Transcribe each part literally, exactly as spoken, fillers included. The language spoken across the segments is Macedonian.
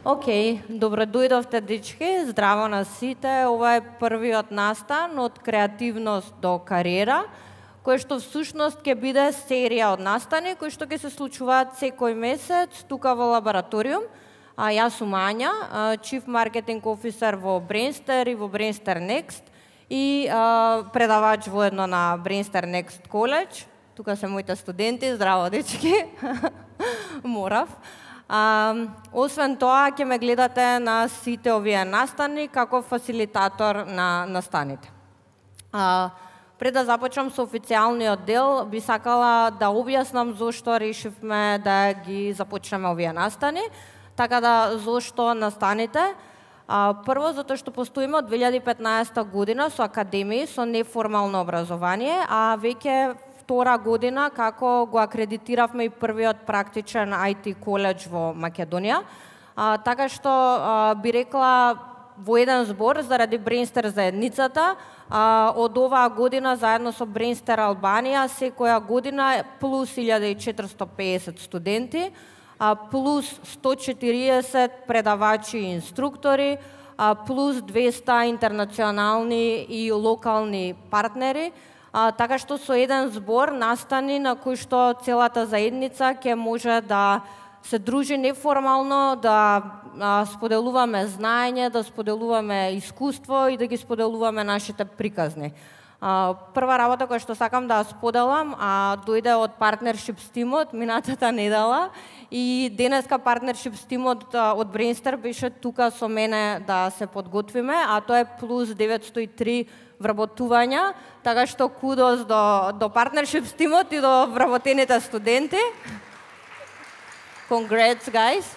Океј, добро дојдовте, дечки, здраво на сите. Ова е првиот настан од креативност до кариера, кој што всушност ќе биде серија од настани кои што ќе се случуваат секој месец тука во лабораториум. А јас сум Ања, Chief Marketing Officer во Brainster и во Brainster Next и а, предавач воедно на Brainster Next College. Тука се моите студенти, здраво дечки. Морав. А, освен тоа, ќе ме гледате на сите овие настани како фасилитатор на настаните. А, пред да започнам со официјалниот дел, би сакала да објаснам зошто решивме да ги започнеме овие настани. Така да, зошто настаните? А, прво, затоа што постоиме од две илјади и петнаесетта година со академии, со неформално образование, а веќе втора година како го акредитиравме и првиот практичен ай ти коледж во Македонија. А, така што а, би рекла во еден збор заради Brainster заедницата, а, од оваа година заедно со Brainster Албанија секоја година плюс илјада и четиристотини и песет студенти, а, плюс сто и четириесет предавачи и инструктори, а, плюс двеста интернационални и локални партнери. А, така што со еден збор настани на кој што целата заедница ќе може да се дружи неформално, да а, споделуваме знаење, да споделуваме искуство и да ги споделуваме нашите приказни. А, прва работа која што сакам да споделам, а, дојде од Partnerships тимот минатата недела и денеска Partnerships тимот од Brainster беше тука со мене да се подготвиме, а тоа е плюс деветстотини и три вработувања, така што кудос до, до Partnerships тимот и до вработените студенти. Congrats, guys!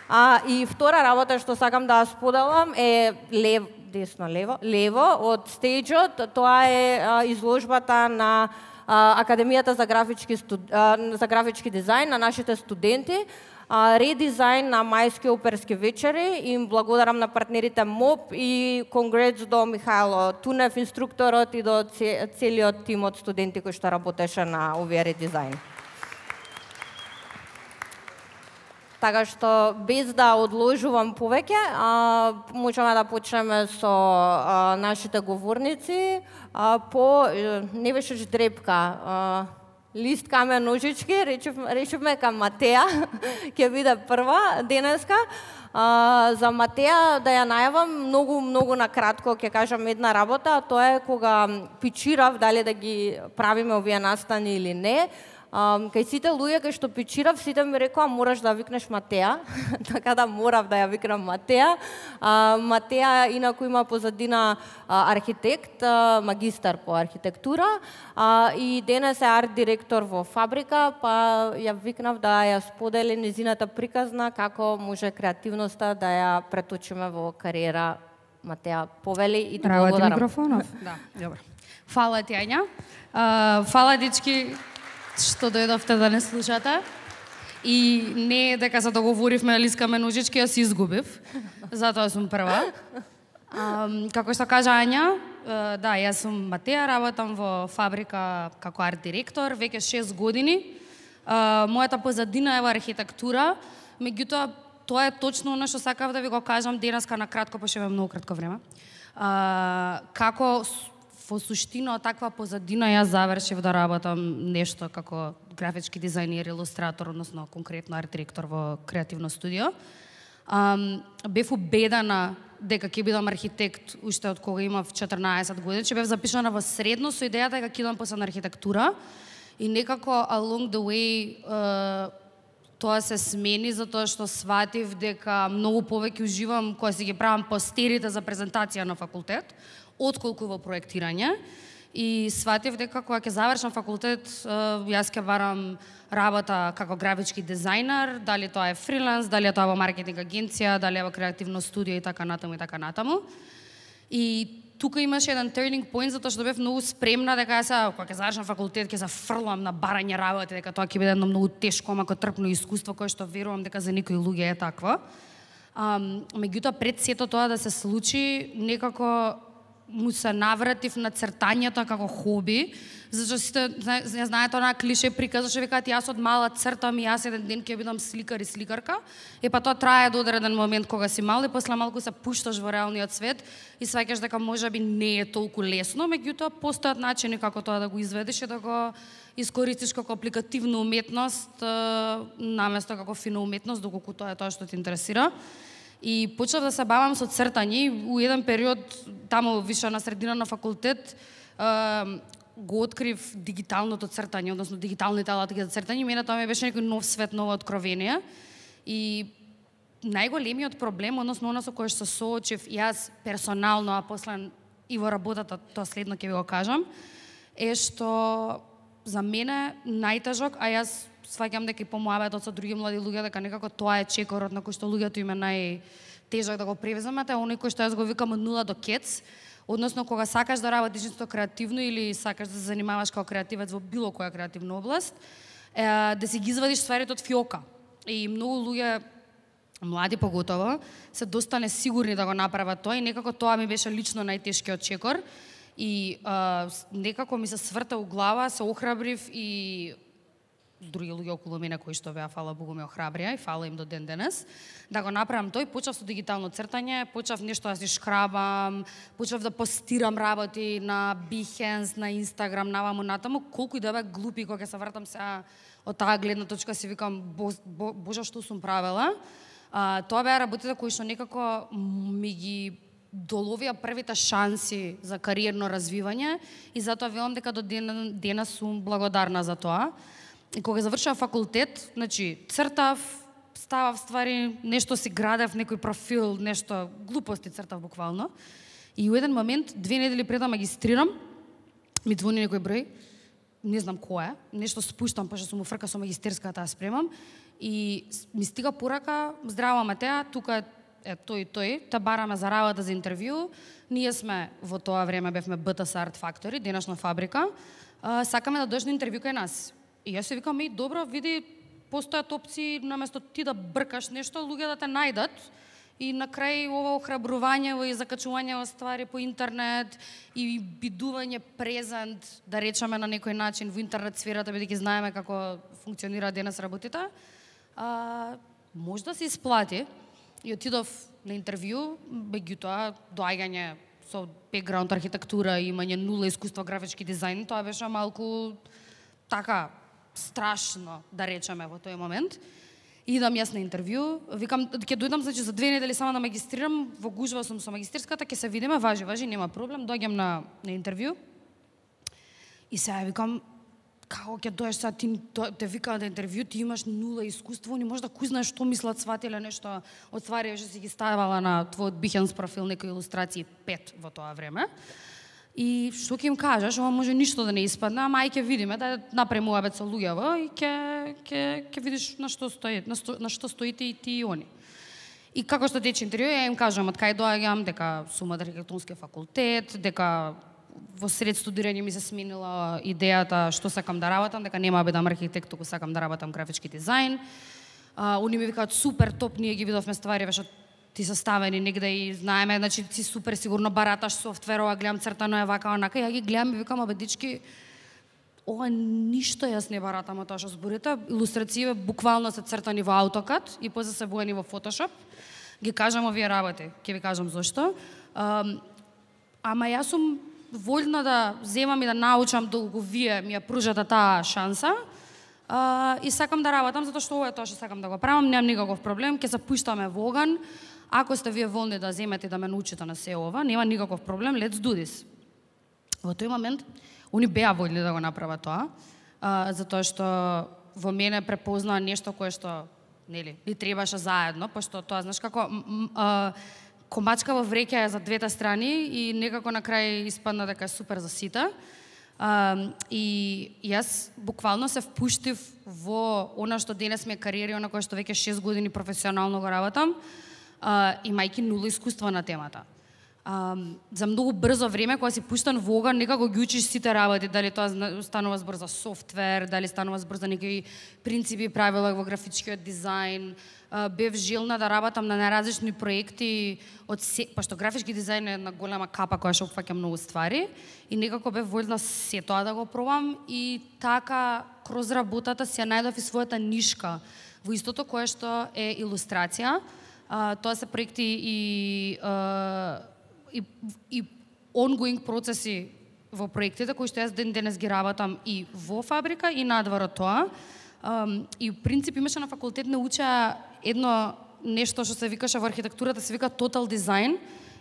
А, и втора работа што сакам да споделам е лев, десно, лево, лево од стејџот. Тоа е а, изложбата на а, Академијата за графички, студ... а, за графички дизајн на нашите студенти. Редизајн на мајски оперски вечери. Им благодарам на партнерите МОП и конгрец до Михајло Тунев, инструкторот, и до целиот тим од студенти кои што работеше на овие редизајн. Така што, без да одложувам повеќе, а, можеме да почнеме со а, нашите говорници. А, по, не беше дрепка, а, лист, камен, ножички, решивме, решивме кам Матеја, ќе биде прва денеска. А, за Матеја да ја најавам многу, многу накратко, ќе кажам една работа, а тоа е кога пичирав дали да ги правиме овие настани или не. Um, кај сите луѓе кај што пичирав, сите ми рекоа мораш да викнеш Матеја, така да морав да ја викнам Матеја. Uh, Матеја инаку има позадина uh, архитект, uh, магистар по архитектура uh, и денес е арт директор во фабрика, па ја викнав да ја сподели незината приказна како може креативноста да ја преточиме во кариера. Матеја, повели и ти благодарам. Работи микрофонов? Да, добро. Фала ти, Ања. Uh, фала, дечки, што дојдовте да не слушате. И не дека се договоривме да лискаме ножички, јас изгубив. Затоа сум прва. Um, како што кажа Ања, uh, да, јас сум Матеја, работам во фабрика како арт директор, веќе шест години. Uh, мојата позадина е во архитектура, меѓутоа тоа е точно она што сакав да ви го кажам денеска на кратко, пошто имам многу кратко време. Uh, како во суштина од таква позадина јас завршив да работам нешто како графички дизајнер, илустратор, односно конкретно арт директор во креативно студио. Um, бев убедена дека ќе бидам архитект уште од кога имав четрнаесет години, че бев запишана во средно со идејата дека ќе идам после на архитектура и некако along the way uh, тоа се смени затоа што сватив дека многу повеќе уживам кога си ги правам постерите за презентација на факултет, отколку во проектирање. И сватив дека кога ќе завршам факултет, јас ќе барам работа како графички дизајнер, дали тоа е фриланс, дали е тоа во маркетинг агенција, дали е во креативно студио и така натаму и така натаму. И тука имаше еден turning point затоа што бев многу спремна дека јас кога ќе завршам факултет ќе се фрлам на барање работи, дека тоа ќе биде едно многу тешко, мако трпно искуство кое што верувам дека за некои луѓе е такво. Um, меѓутоа пред сето тоа да се случи, некако му се навратив на цртањето како хоби, зашто сите не знаете онаа клише приказ, што викаат јас од мала цртам и јас еден ден ќе бидам сликар и сликарка. И па тоа трае до одреден момент кога си мал и после малку се пушташ во реалниот свет и сваќаш дека можеби не е толку лесно, меѓутоа постојат начини како тоа да го изведеш и да го искористиш како апликативна уметност наместо како фина уметност, доколку тоа е тоа што те интересира. И почнав да се бавам со цртање. У еден период, таму више на средина на факултет, го открив дигиталното цртање, односно дигиталните алатки за цртање. Мене тоа ми беше некој нов свет, ново откровение. И најголемиот проблем, односно она со кој што се соочив јас персонално, а после и во работата, тоа следно ќе ви го кажам, е што за мене најтежок, а јас сваќам дека и по муабетот со други млади луѓе дека некако тоа е чекорот на кој што луѓето им е најтежок да го превземат, е оној кој што јас го викам од нула до кец, односно кога сакаш да работиш нешто креативно или сакаш да се занимаваш како креативец во било која креативна област, е, да си ги извадиш стварите од фиока. И многу луѓе, млади поготово, се доста несигурни да го направат тоа и некако тоа ми беше лично најтешкиот чекор. И а, некако ми се сврта у глава, се охрабрив и други луѓе околу мене кои што беа, фала Богу, ме охрабрија и фала им до ден денес, да го направам тој. Почав со дигитално цртање, почав нешто да си шкрабам, почав да постирам работи на Behance, на Instagram, наваму натаму, колку и да бе глупи кога се вратам сега од таа гледна точка, си викам, бо, бо, боже, што сум правела. А, тоа беа работите кои што некако ми ги доловија првите шанси за кариерно развивање и затоа велам дека до ден, денес сум благодарна за тоа. И кога завршав факултет, значи, цртав, ставав ствари, нешто си градев, некој профил, нешто, глупости цртав буквално. И у еден момент, две недели пред да магистрирам, ми звони некој број, не знам кој е, нешто спуштам, пошто сум фрка со магистерската да спремам, и ми стига порака, здраво Матеа, тука е тој и тој, та бараме за работа за интервју, ние сме во тоа време бевме би ти ес Art Factory, денешна фабрика, сакаме да дојдеш на интервју кај нас. И јас се викам, и добро, види, постојат опции, наместо ти да бркаш нешто, луѓе да те најдат. И на крај ова охрабрување и закачување во ствари по интернет и бидување презент, да речеме на некој начин во интернет сферата, бидејќи знаеме како функционира денес работите, а, може да се исплати. И отидов на интервју, меѓутоа доаѓање со бекграунд архитектура и имање нула искуство графички дизајн, тоа беше малку така страшно, да речеме, во тој момент. Идам јас на интервју, викам, ќе дојдам, значи, за две недели само да магистрирам, во гужва сум со магистерската, ќе се видиме, важи, важи, нема проблем, доаѓам на, на интервју. И сега викам, како ќе доеш сега, ти те викаа на интервју, ти имаш нула искуство, не можеш да кузнаеш што мислат сватиле нешто од ствари, што си ги ставала на твојот Behance профил, некои илустрации пет во тоа време. И што ќе им кажеш, ова може ништо да не испадне, ама ај ќе видиме, да направиме муабет со луѓево и ќе ќе ќе видиш на што стои, на, сто, на што стоите и ти и они. И како што тече интервју, ја им кажам од кај доаѓам, дека сум од архитектонски факултет, дека во сред студирање ми се сменила идејата што сакам да работам, дека нема да бидам архитект, туку сакам да работам графички дизајн. А, они ми викаат супер топ, ние ги видовме ствари, беше ти се ставени негде и знаеме, значи ти супер сигурно бараташ софтвер, ова гледам цртано е вака, онака, ја ги гледам и викам, абе дички, ова ништо јас не баратам од тоа што зборите, илустрациите буквално се цртани во AutoCAD и после се боени во Photoshop. Ги кажам овие работи, ќе ви кажам зошто. Um, ама јас сум вољна да земам и да научам долго вие ми ја пружате таа шанса. Uh, и сакам да работам затоа што ова е тоа што сакам да го правам, немам никаков проблем, ќе се пуштаме во оган. Ако сте вие волни да земете да ме научите на се ова, нема никаков проблем, let's do this. Во тој момент, они беа вољни да го направат тоа, uh, затоа што во мене препознаа нешто кое што, нели, ни требаше заедно, пошто тоа, знаеш како, uh, комачка во вреќа е за двете страни и некако на крај испадна дека е супер за сите. Uh, и јас буквално се впуштив во она што денес ми е кариера, на која што веќе шест години професионално го работам, uh, имајќи нула искуство на темата. а, за многу брзо време, кога си пуштан во оган, некако ги учиш сите работи, дали тоа станува збор за софтвер, дали станува збор за некои принципи и правила во графичкиот дизајн. Uh, бев желна да работам на најразлични проекти, од се, пошто графички дизајн е една голема капа која што опфаќа многу ствари и некако бев воljна се тоа да го пробам и така кроз работата си ја најдов и својата нишка во истото кое што е илустрација. Uh, тоа се проекти и, uh, и, и ongoing процеси во проектите кои што јас ден денес ги работам и во фабрика и надвор од тоа. Um, и в принцип имаше на факултет не уча едно нешто што се викаше во архитектурата, се вика total design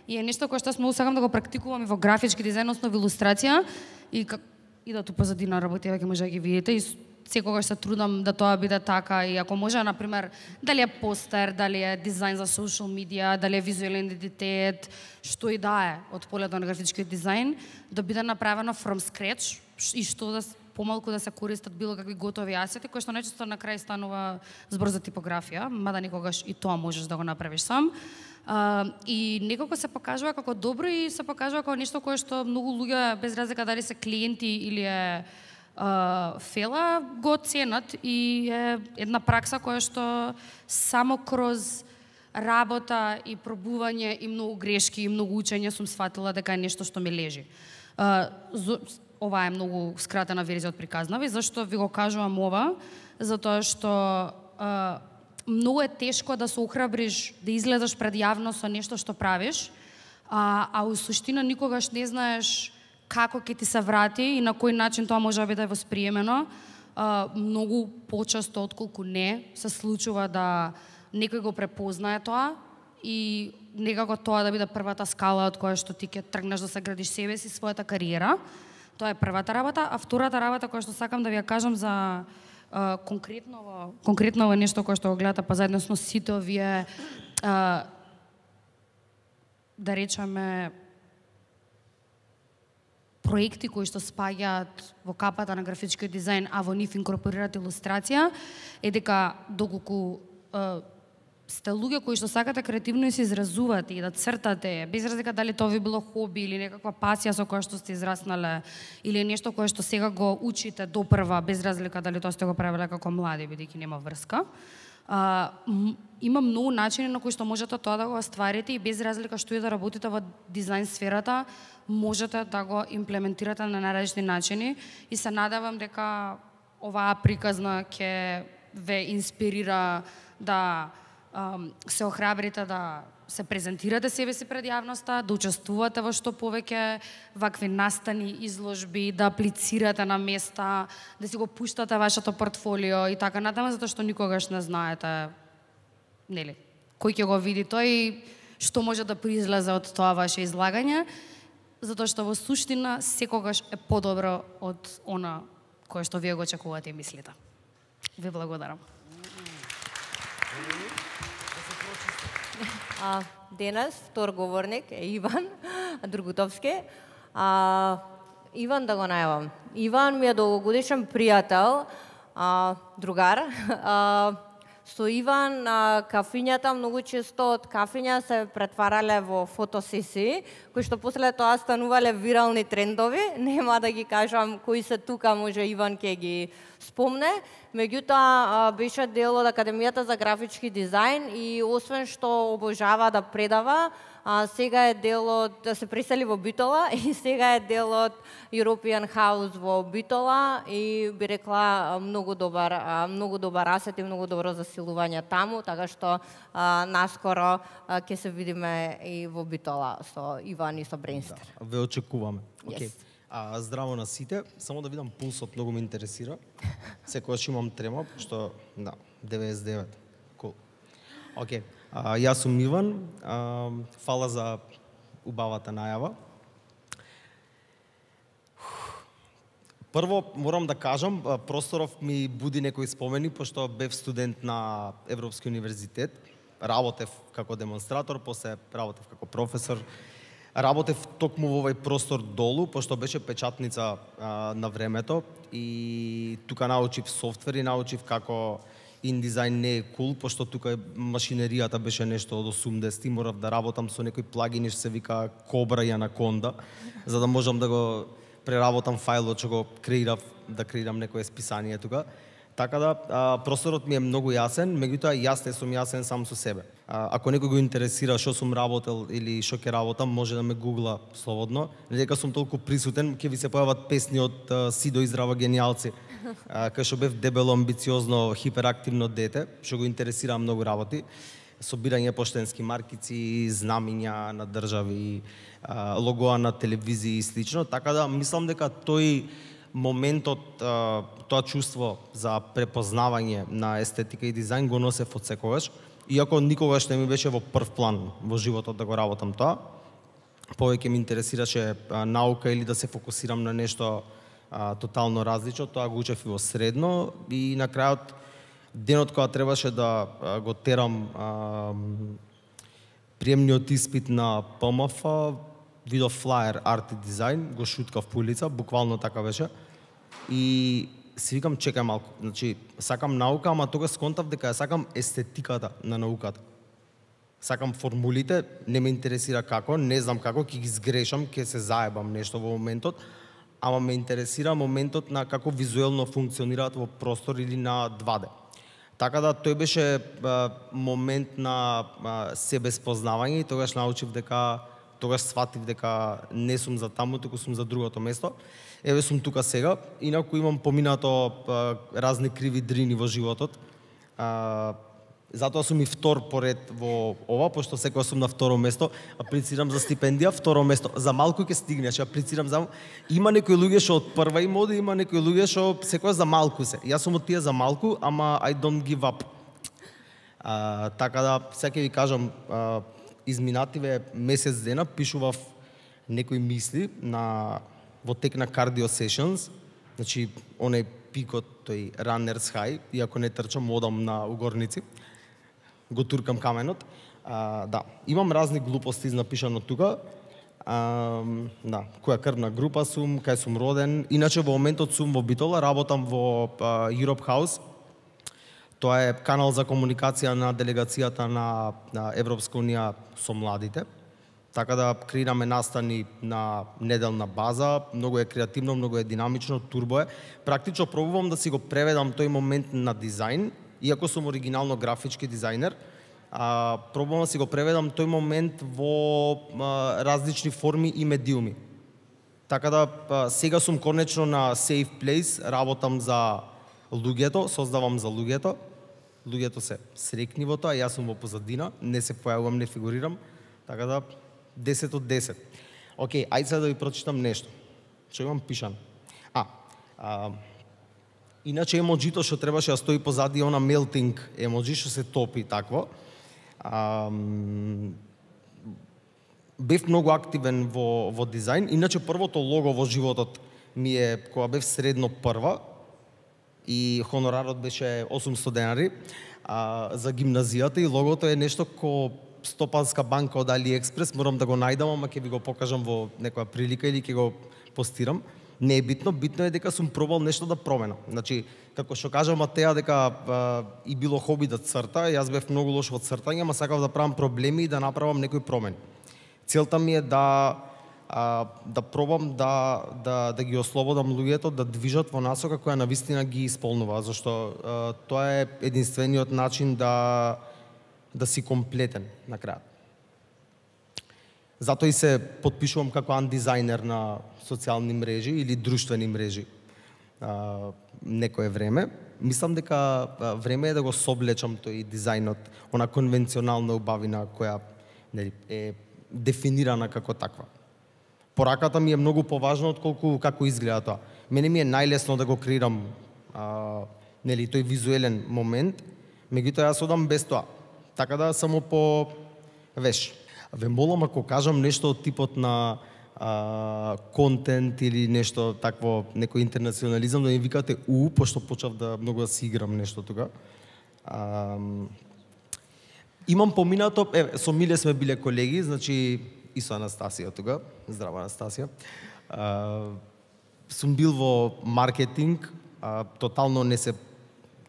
и е нешто кое што јас многу сакам да го практикувам и во графички дизајн, односно во илустрација и как и да ту позади на работи веќе може да ги видите и секогаш се трудам да тоа биде така и ако може на пример дали е постер, дали е дизајн за social media, дали е визуелен идентитет, што и да е од полето на графички дизајн, да биде направено from scratch и што да помалку да се користат било какви готови асети, кои што најчесто на крај станува збор за типографија, мада никогаш и тоа можеш да го направиш сам. Uh, и некако се покажува како добро и се покажува како нешто кое што многу луѓе, без разлика дали се клиенти или е uh, фела, го ценат и е една пракса која што само кроз работа и пробување и многу грешки и многу учење сум сфатила дека е нешто што ми лежи. Uh, Ова е многу скратена верзија од приказнава и зашто ви го кажувам ова? Затоа што а, многу е тешко да се охрабриш, да излезеш пред јавност со нешто што правиш, а, а у суштина никогаш не знаеш како ќе ти се врати и на кој начин тоа може да биде восприемено. А, многу почесто отколку не се случува да некој го препознае тоа и некако тоа да биде првата скала од која што ти ќе тргнеш да се градиш себе си, својата кариера. Тоа е првата работа, а втората работа која што сакам да ви ја кажам за а, конкретно конкретно нешто кое што го гледате па заедно со сите овие а, да речеме проекти кои што спаѓаат во капата на графички дизајн, а во нив инкорпорираат илустрација, е дека доколку а, сте луѓе кои што сакате креативно и се изразувате и да цртате, без разлика дали тоа ви било хоби или некаква пасија со која што сте израснале или нешто кое што сега го учите допрва, без разлика дали тоа сте го правеле како млади, бидејќи нема врска. А, има многу начини на кои што можете тоа да го остварите и без разлика што и да работите во дизајн сферата, можете да го имплементирате на најразлични начини и се надевам дека оваа приказна ќе ве инспирира да се охрабрите да се презентирате себе си пред јавноста, да учествувате во што повеќе вакви настани, изложби, да аплицирате на места, да си го пуштате вашето портфолио и така натаму, затоа што никогаш не знаете, нели, кој ќе го види тој и што може да произлезе од тоа ваше излагање, затоа што во суштина секогаш е подобро од она кое што вие го очекувате и мислите. Ви благодарам. А, денес втор говорник е Иван Другутовски. А, Иван да го најавам. Иван ми е долгогодишен пријател, а, другар. А, со Иван а, кафињата многу често од кафиња се претварале во фотосесии, кои што после тоа станувале вирални трендови. Нема да ги кажам кои се тука, може Иван ќе ги спомне. Меѓутоа беше дел од Академијата за графички дизајн и освен што обожава да предава, а, сега е дел од, да се пресели во Битола и сега е дел од European House во Битола и би рекла многу добар, многу добар асет и многу добро засилување таму, така што а, наскоро а, ќе се видиме и во Битола со Иван и со Бренстер. Да, ве очекуваме. Yes. Okay. А, здраво на сите, само да видам пулсот, многу ме интересира. Секогаш имам трема, што да, деветдесет и девет. Cool. Океј. Okay. Јас сум Иван. А, фала за убавата најава. Прво морам да кажам, просторов ми буди некои спомени, пошто бев студент на Европски универзитет, работев како демонстратор, после работев како професор. Работев токму во овој простор долу, пошто беше печатница а, на времето и тука научив софтвер и научив како индизајн не е кул, пошто тука машинеријата беше нешто од осумдесети, морав да работам со некој плагин што се вика Cobra и Anaconda, за да можам да го преработам фајлот што го креирав, да креирам некое списание тука. Така да, а, просторот ми е многу јасен, меѓутоа јас не сум јасен сам со себе. А, ако некој го интересира што сум работел или што ќе работам, може да ме гугла слободно. Дека сум толку присутен, ќе ви се појават песни од а, Сидо и Здрава генијалци, а, кај што бев дебело, амбициозно, хиперактивно дете, што го интересира многу работи. Собирање поштенски маркици, знамиња на држави, а, логоа на телевизии и слично. Така да, мислам дека тој моментот, тоа чувство за препознавање на естетика и дизајн го носев од секогаш, иако никогаш не ми беше во прв план во животот да го работам тоа. Повеќе ме интересираше наука или да се фокусирам на нешто а, тотално различно, тоа го учев и во средно и на крајот денот кога требаше да а, го терам а, приемниот испит на П М Ф, видов флаер арт и дизајн, го шуткав по улица, буквално така беше. И си викам, чекај малку, значи, сакам наука, ама тогаш сконтав дека ја сакам естетиката на науката. Сакам формулите, не ме интересира како, не знам како, ќе ги сгрешам, ќе се заебам нешто во моментот, ама ме интересира моментот на како визуелно функционираат во простор или на два Д. Така да, тој беше а, момент на а, себеспознавање и тогаш научив дека тогаш сватив дека не сум за таму, туку сум за другото место. Еве сум тука сега, инаку имам поминато а, разни криви дрини во животот. А, затоа сум и втор поред во ова, пошто секоја сум на второ место, аплицирам за стипендија, второ место. За малку ќе стигнеш, аплицирам за... Има некои луѓе што од прва им оди, има некои луѓе што секоја за малку се. Јас сум од тие за малку, ама I don't give up. А, така да, сега ќе ви кажам, а, изминативе месец дена пишував некои мисли на во тек на cardio sessions, значи оној пикот, тој runners high, иако не трчам, одам на угорници, го туркам каменот. А, да, имам разни глупости напишано тука. А, да, која крвна група сум, кај сум роден. Иначе во моментот сум во Битола, работам во а, Europe House. Тоа е канал за комуникација на делегацијата на, на Европска унија со младите. Така да креираме настани на неделна база, многу е креативно, многу е динамично, турбо е. Практично пробувам да си го преведам тој момент на дизајн, иако сум оригинално графички дизајнер, а, пробувам да си го преведам тој момент во а, различни форми и медиуми. Така да а, сега сум конечно на safe place, работам за луѓето, создавам за луѓето. Луѓето се срекни во тоа, јас сум во позадина, не се појавувам, не фигурирам, така да десет од десет. Океј, ајде сега да ви прочитам нешто. Што имам пишано? А, а иначе емоджито што требаше да стои позади она melting емоджи што се топи такво. А, бев многу активен во во дизајн, иначе првото лого во животот ми е кога бев средно прва и хонорарот беше осумсто денари а, за гимназијата и логото е нешто ко Стопанска банка од AliExpress, морам да го најдам, ама ќе ви го покажам во некоја прилика или ќе го постирам. Не е битно, битно е дека сум пробал нешто да променам. Значи, како што кажа Матеја дека а, и било хоби да црта, јас бев многу лош во цртање, ама сакав да правам проблеми и да направам некои промени. Целта ми е да а, да пробам да, да, да ги ослободам луѓето да движат во насока која навистина ги исполнува, зашто а, тоа е единствениот начин да да си комплетен на крајот. Затоа и се потпишувам како андизајнер на социјални мрежи или друштвени мрежи а, некое време. Мислам дека а, време е да го соблечам тој дизајнот, она конвенционална убавина која нели, е дефинирана како таква. Пораката ми е многу поважна отколку како изгледа тоа. Мене ми е најлесно да го креирам а, нели, тој визуелен момент, меѓутоа јас одам без тоа. Така да само по веш. Ве молам ако кажам нешто од типот на а, контент или нешто такво, некој интернационализам, да ми викате у, пошто почав да многу да си играм нешто тука. А, имам поминато, е, со Миле сме биле колеги, значи и со Анастасија тука. Здрава Анастасија. А, сум бил во маркетинг, а, тотално не се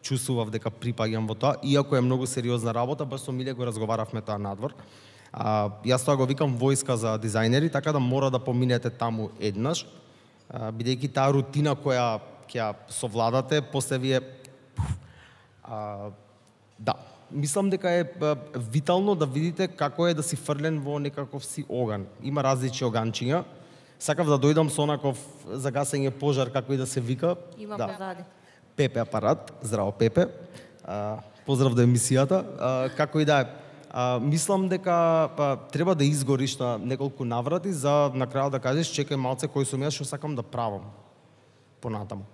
чувствував дека припаѓам во тоа, иако е многу сериозна работа, баш со Миле го разговаравме тоа надвор. А, јас тоа го викам војска за дизајнери, така да мора да поминете таму еднаш, а, бидејќи таа рутина која ќе ја совладате, после вие а, да, мислам дека е витално да видите како е да си фрлен во некаков си оган. Има различни оганчиња. Сакав да дојдам со онаков за гасење пожар, како и да се вика. Има да. позади. Пепе апарат, здраво Пепе. А, поздрав до емисијата. А, како и да е. А, мислам дека па, треба да изгориш на неколку наврати за на крајот да кажеш чекај малце кој сум јас што сакам да правам понатаму.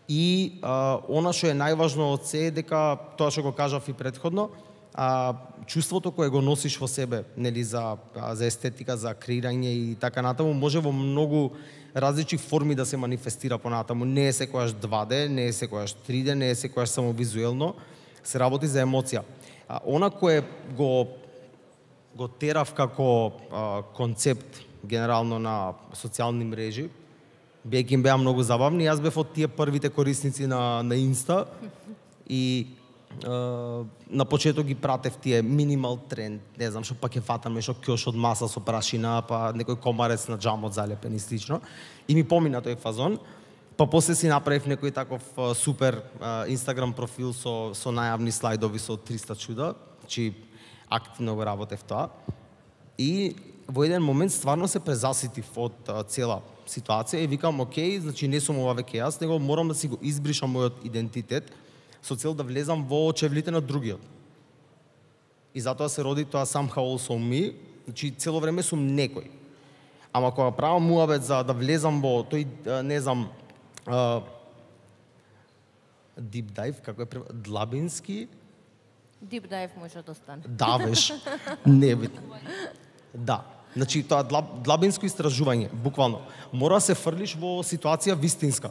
И а, она што е најважно од се е дека тоа што го кажав и претходно, а, чувството кое го носиш во себе, нели за за естетика, за креирање и така натаму може во многу различни форми да се манифестира понатаму. Не е секогаш два де, не е секогаш три де, не е секогаш само визуелно, се работи за емоција. А, она кое го го терав како а, концепт генерално на социјални мрежи, бидејќи им беа многу забавни, јас бев од тие првите корисници на на Инста и е, на почеток ги пратев тие минимал тренд, не знам што па ќе фатаме, што кјош од маса со прашина, па некој комарец на џамот залепен и слично. И ми помина тој фазон. Па после си направив некој таков а, супер а, Инстаграм профил со со најавни слайдови со триста чуда, значи активно го работев тоа. И во еден момент стварно се презаситив од а, цела ситуација и викам, окей, значи не сум ова веќе јас, него морам да си го избришам мојот идентитет со цел да влезам во очевлите на другиот. И затоа се роди тоа somehow also me, значи цело време сум некој. Ама кога правам муабет за да влезам во тој, не знам, uh, deep dive, како е превод, длабински? Deep dive може да стане. Да, веш, не бит. Да. Значи, тоа длаб, длабинско истражување, буквално. Мора да се фрлиш во ситуација вистинска.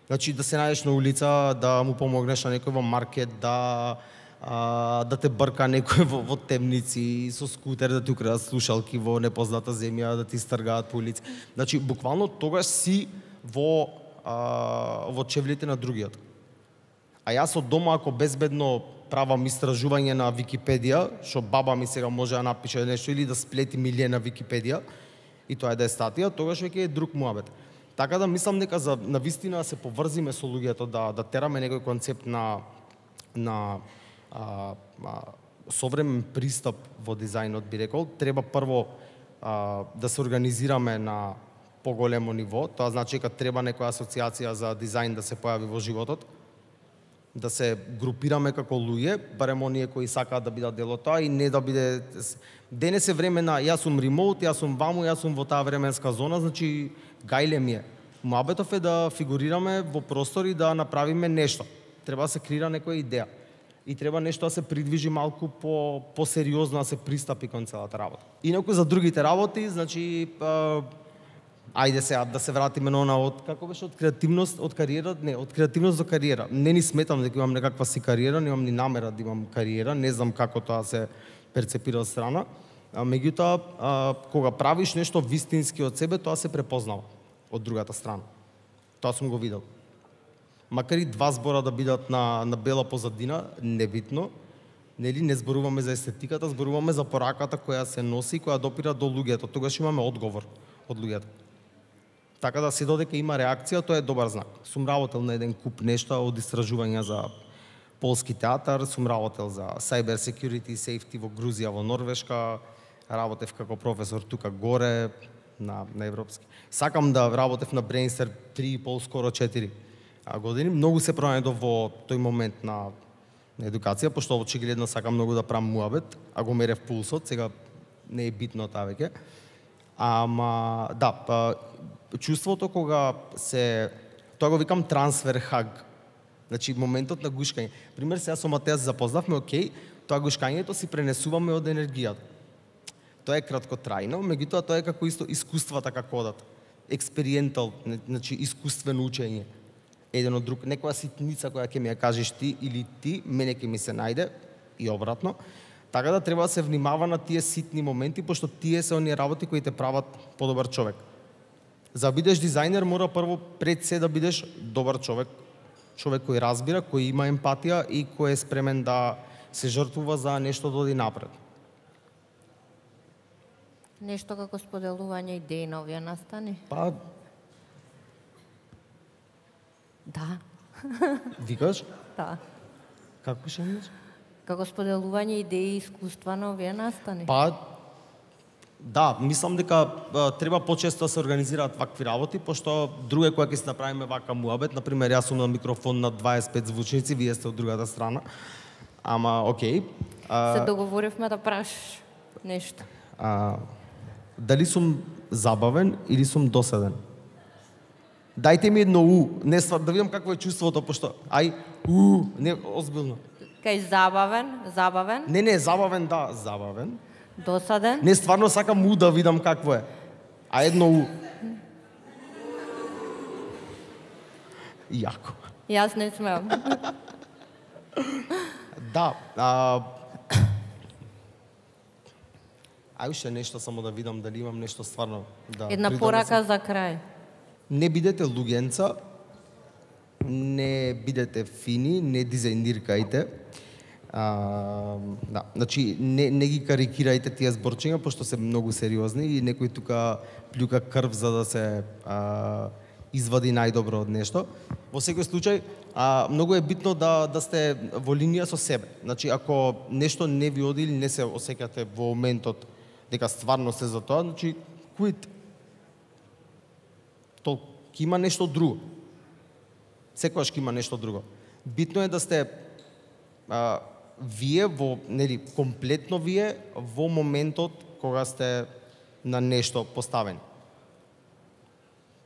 Значи, да се најдеш на улица, да му помогнеш на некој во маркет, да, а, да те брка некој во, во темници, со скутер, да ти украдат слушалки во непозната земја, да ти стргаат по улици. Значи, буквално тогаш си во, а, во чевлите на другиот. А јас од дома, ако безбедно правам истражување на Википедија, што баба ми сега може да напише нешто или да сплети милие на Википедија, и тоа е да е статија, тогаш веќе е друг муабет. Така да мислам дека за на вистина се поврзиме со луѓето, да да тераме некој концепт на на а, а, современ пристап во дизајнот, би рекол. Треба прво а, да се организираме на поголемо ниво, тоа значи дека треба некоја асоциација за дизајн да се појави во животот, да се групираме како луѓе, барем оние кои сакаат да бидат дел од тоа и не да биде денес е време на јас сум ремоут, јас сум ваму, јас сум во таа временска зона, значи гајле ми е. Муабетов е да фигурираме во простор и да направиме нешто. Треба да се креира некоја идеја. И треба нешто да се придвижи малку по посериозно да се пристапи кон целата работа. Инаку за другите работи, значи а, ајде сега да се вратиме на она од како беше од креативност, од кариера, не, од креативност до кариера. Не ни сметам дека имам некаква си кариера, немам ни намера да имам кариера, не знам како тоа се перцепира од страна. А, меѓутоа, а, кога правиш нешто вистински од себе, тоа се препознава од другата страна. Тоа сум го видел. Макар и два збора да бидат на, на бела позадина, небитно, нели не зборуваме за естетиката, зборуваме за пораката која се носи и која допира до луѓето. Тогаш имаме одговор од луѓето. Така да се додека има реакција, тоа е добар знак. Сум работел на еден куп нешта од истражувања за полски театар, сум работел за cyber security и safety во Грузија, во Норвешка, работев како професор тука горе на, на европски. Сакам да работев на Brainster три и пол, скоро четири години. Многу се пронајдов во тој момент на, на едукација, пошто очигледно сакам многу да правам муабет, а го мерев пулсот, сега не е битно таа веќе. Ама, да, па, чувството кога се, тоа го викам трансфер хаг, значи моментот на гушкање. Пример, сега со Матеја се запознавме, окей, тоа гушкањето си пренесуваме од енергијата. Тоа е краткотрајно, меѓутоа тоа е како исто искуствата како одат. Експериентал, значи искуствено учење. Еден од друг, некоја ситница која ќе ми ја кажеш ти или ти, мене ќе ми се најде и обратно. Така да треба да се внимава на тие ситни моменти, пошто тие се оние работи кои те прават подобар човек. За да бидеш дизајнер, мора прво пред се да бидеш добар човек, човек кој разбира, кој има емпатија и кој е спремен да се жртвува за нешто да оди напред. Нешто како споделување идеи на овие настани? Па, Да. викаш? Да. Како ще имаш? Како споделување идеи и искуства на овие настани? Па, да, мислам дека а, треба почесто да се организираат вакви работи, пошто друге која ќе се направиме вака муабет, например, јас сум на микрофон на дваесет и пет звучници, вие сте од другата страна. Ама, окей. А, Се договоривме да прашаш нешто. а, дали сум забавен или сум доседен? Дајте ми едно у, не ствар, да видам какво е чувството, пошто, ај, у, не, озбилно. Кај забавен, забавен, Не, не, забавен, да, забавен. досаден. Не, стварно сакам у да видам какво е. А едно у. Јако. Јас не смеам. Да, а... Ај уште нешто само да видам дали имам нешто стварно да Една придонесам. порака за крај. Не бидете луѓенца, не бидете фини, не дизајниркајте. А, да, значи не, не ги карикирајте тие зборчиња, пошто се многу сериозни и некој тука плюка крв за да се а, извади најдобро од нешто. Во секој случај, а, многу е битно да, да сте во линија со себе. Значи, ако нешто не ви оди или не се осеќате во моментот дека стварно сте за тоа, значи, quit. Толку, ќе има нешто друго. Секогаш ќе има нешто друго. Битно е да сте а, вие во, нели, комплетно вие во моментот кога сте на нешто поставени.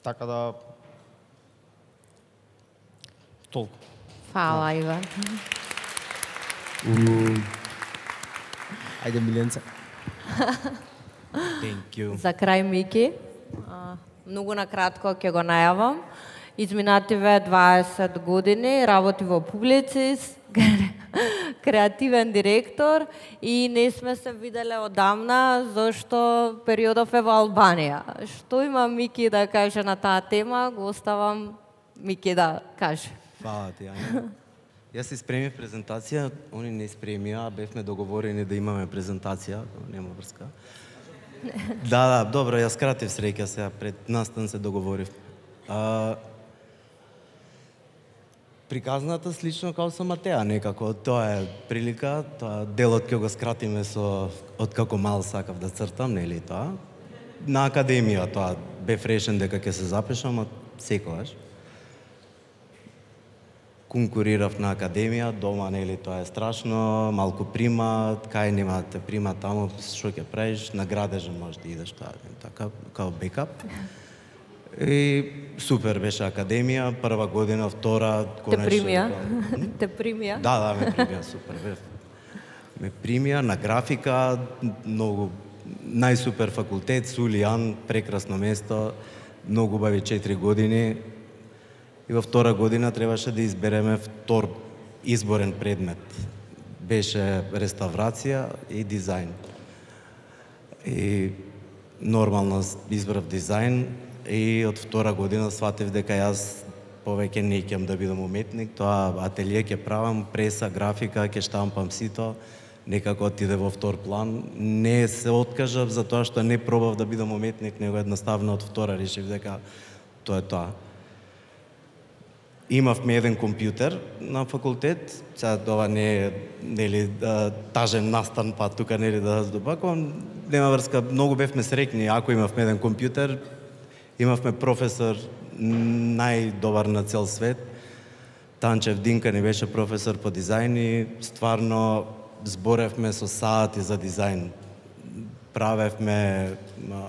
Така да толку. Фала, Иван. Ајде, Миленце. Thank you. За крај, Мики, а, многу накратко ќе го најавам. Изминативе дваесет години работи во Публицис, креативен директор и не сме се виделе одамна зашто периодов е во Албанија. Што има Мики да каже на таа тема, го оставам Мики да каже. Фала ти, Ања. Јас си спремив презентација, они не спремија, бевме договорени да имаме презентација, нема врска. Да, да, добро, јас кратив среќа сега, пред настан се договорив. А, приказната слично како со Матеа, некако, тоа е прилика, тоа делот ќе го скратиме со од како мал сакав да цртам, нели тоа. На академија тоа бев решен дека ќе се запишам, а секогаш. Конкурирав на академија, дома, нели, тоа е страшно, малку прима, кај нема да те прима таму, што ќе правиш, на градежен можеш да идеш, тоа, така, као бекап. И супер беше академија, прва година, втора, Те конечно. примија? М? Те примија? Да, да, ме примија, супер, бе. Ме примија на графика, многу, најсупер факултет, Сулијан, прекрасно место, многу убави четири години. И во втора година требаше да избереме втор изборен предмет. Беше реставрација и дизајн. И нормално избрав дизајн и од втора година сватив дека јас повеќе не ќе да бидам уметник, тоа ателје ќе правам, преса, графика, ќе штампам сито, некако отиде во втор план. Не се откажав за тоа што не пробав да бидам уметник, него едноставно од втора решив дека тоа е тоа. Имавме еден компјутер на факултет, сега ова не е, нели, тажен настан, па тука, нели, да здобакувам, нема врска, многу бевме среќни ако имавме еден компјутер. Имавме професор најдобар на цел свет, Танчев Динка ни беше професор по дизајн и стварно зборевме со сати за дизајн. Правевме,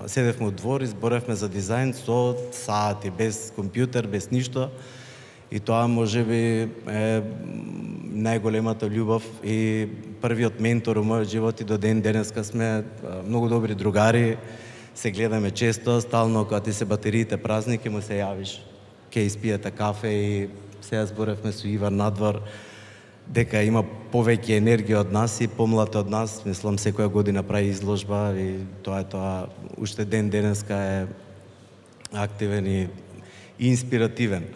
седевме од двор и зборевме за дизајн со сати, без компјутер, без ништо. И тоа можеби е најголемата љубов и првиот ментор во мојот живот и до ден денеска сме многу добри другари, се гледаме често, стално кога ти се батериите празни ќе му се јавиш, ќе испиете кафе и сега зборевме со Иван надвор дека има повеќе енергија од нас и помлад од нас, мислам секоја година прави изложба и тоа е тоа, уште ден денеска е активен и инспиративен.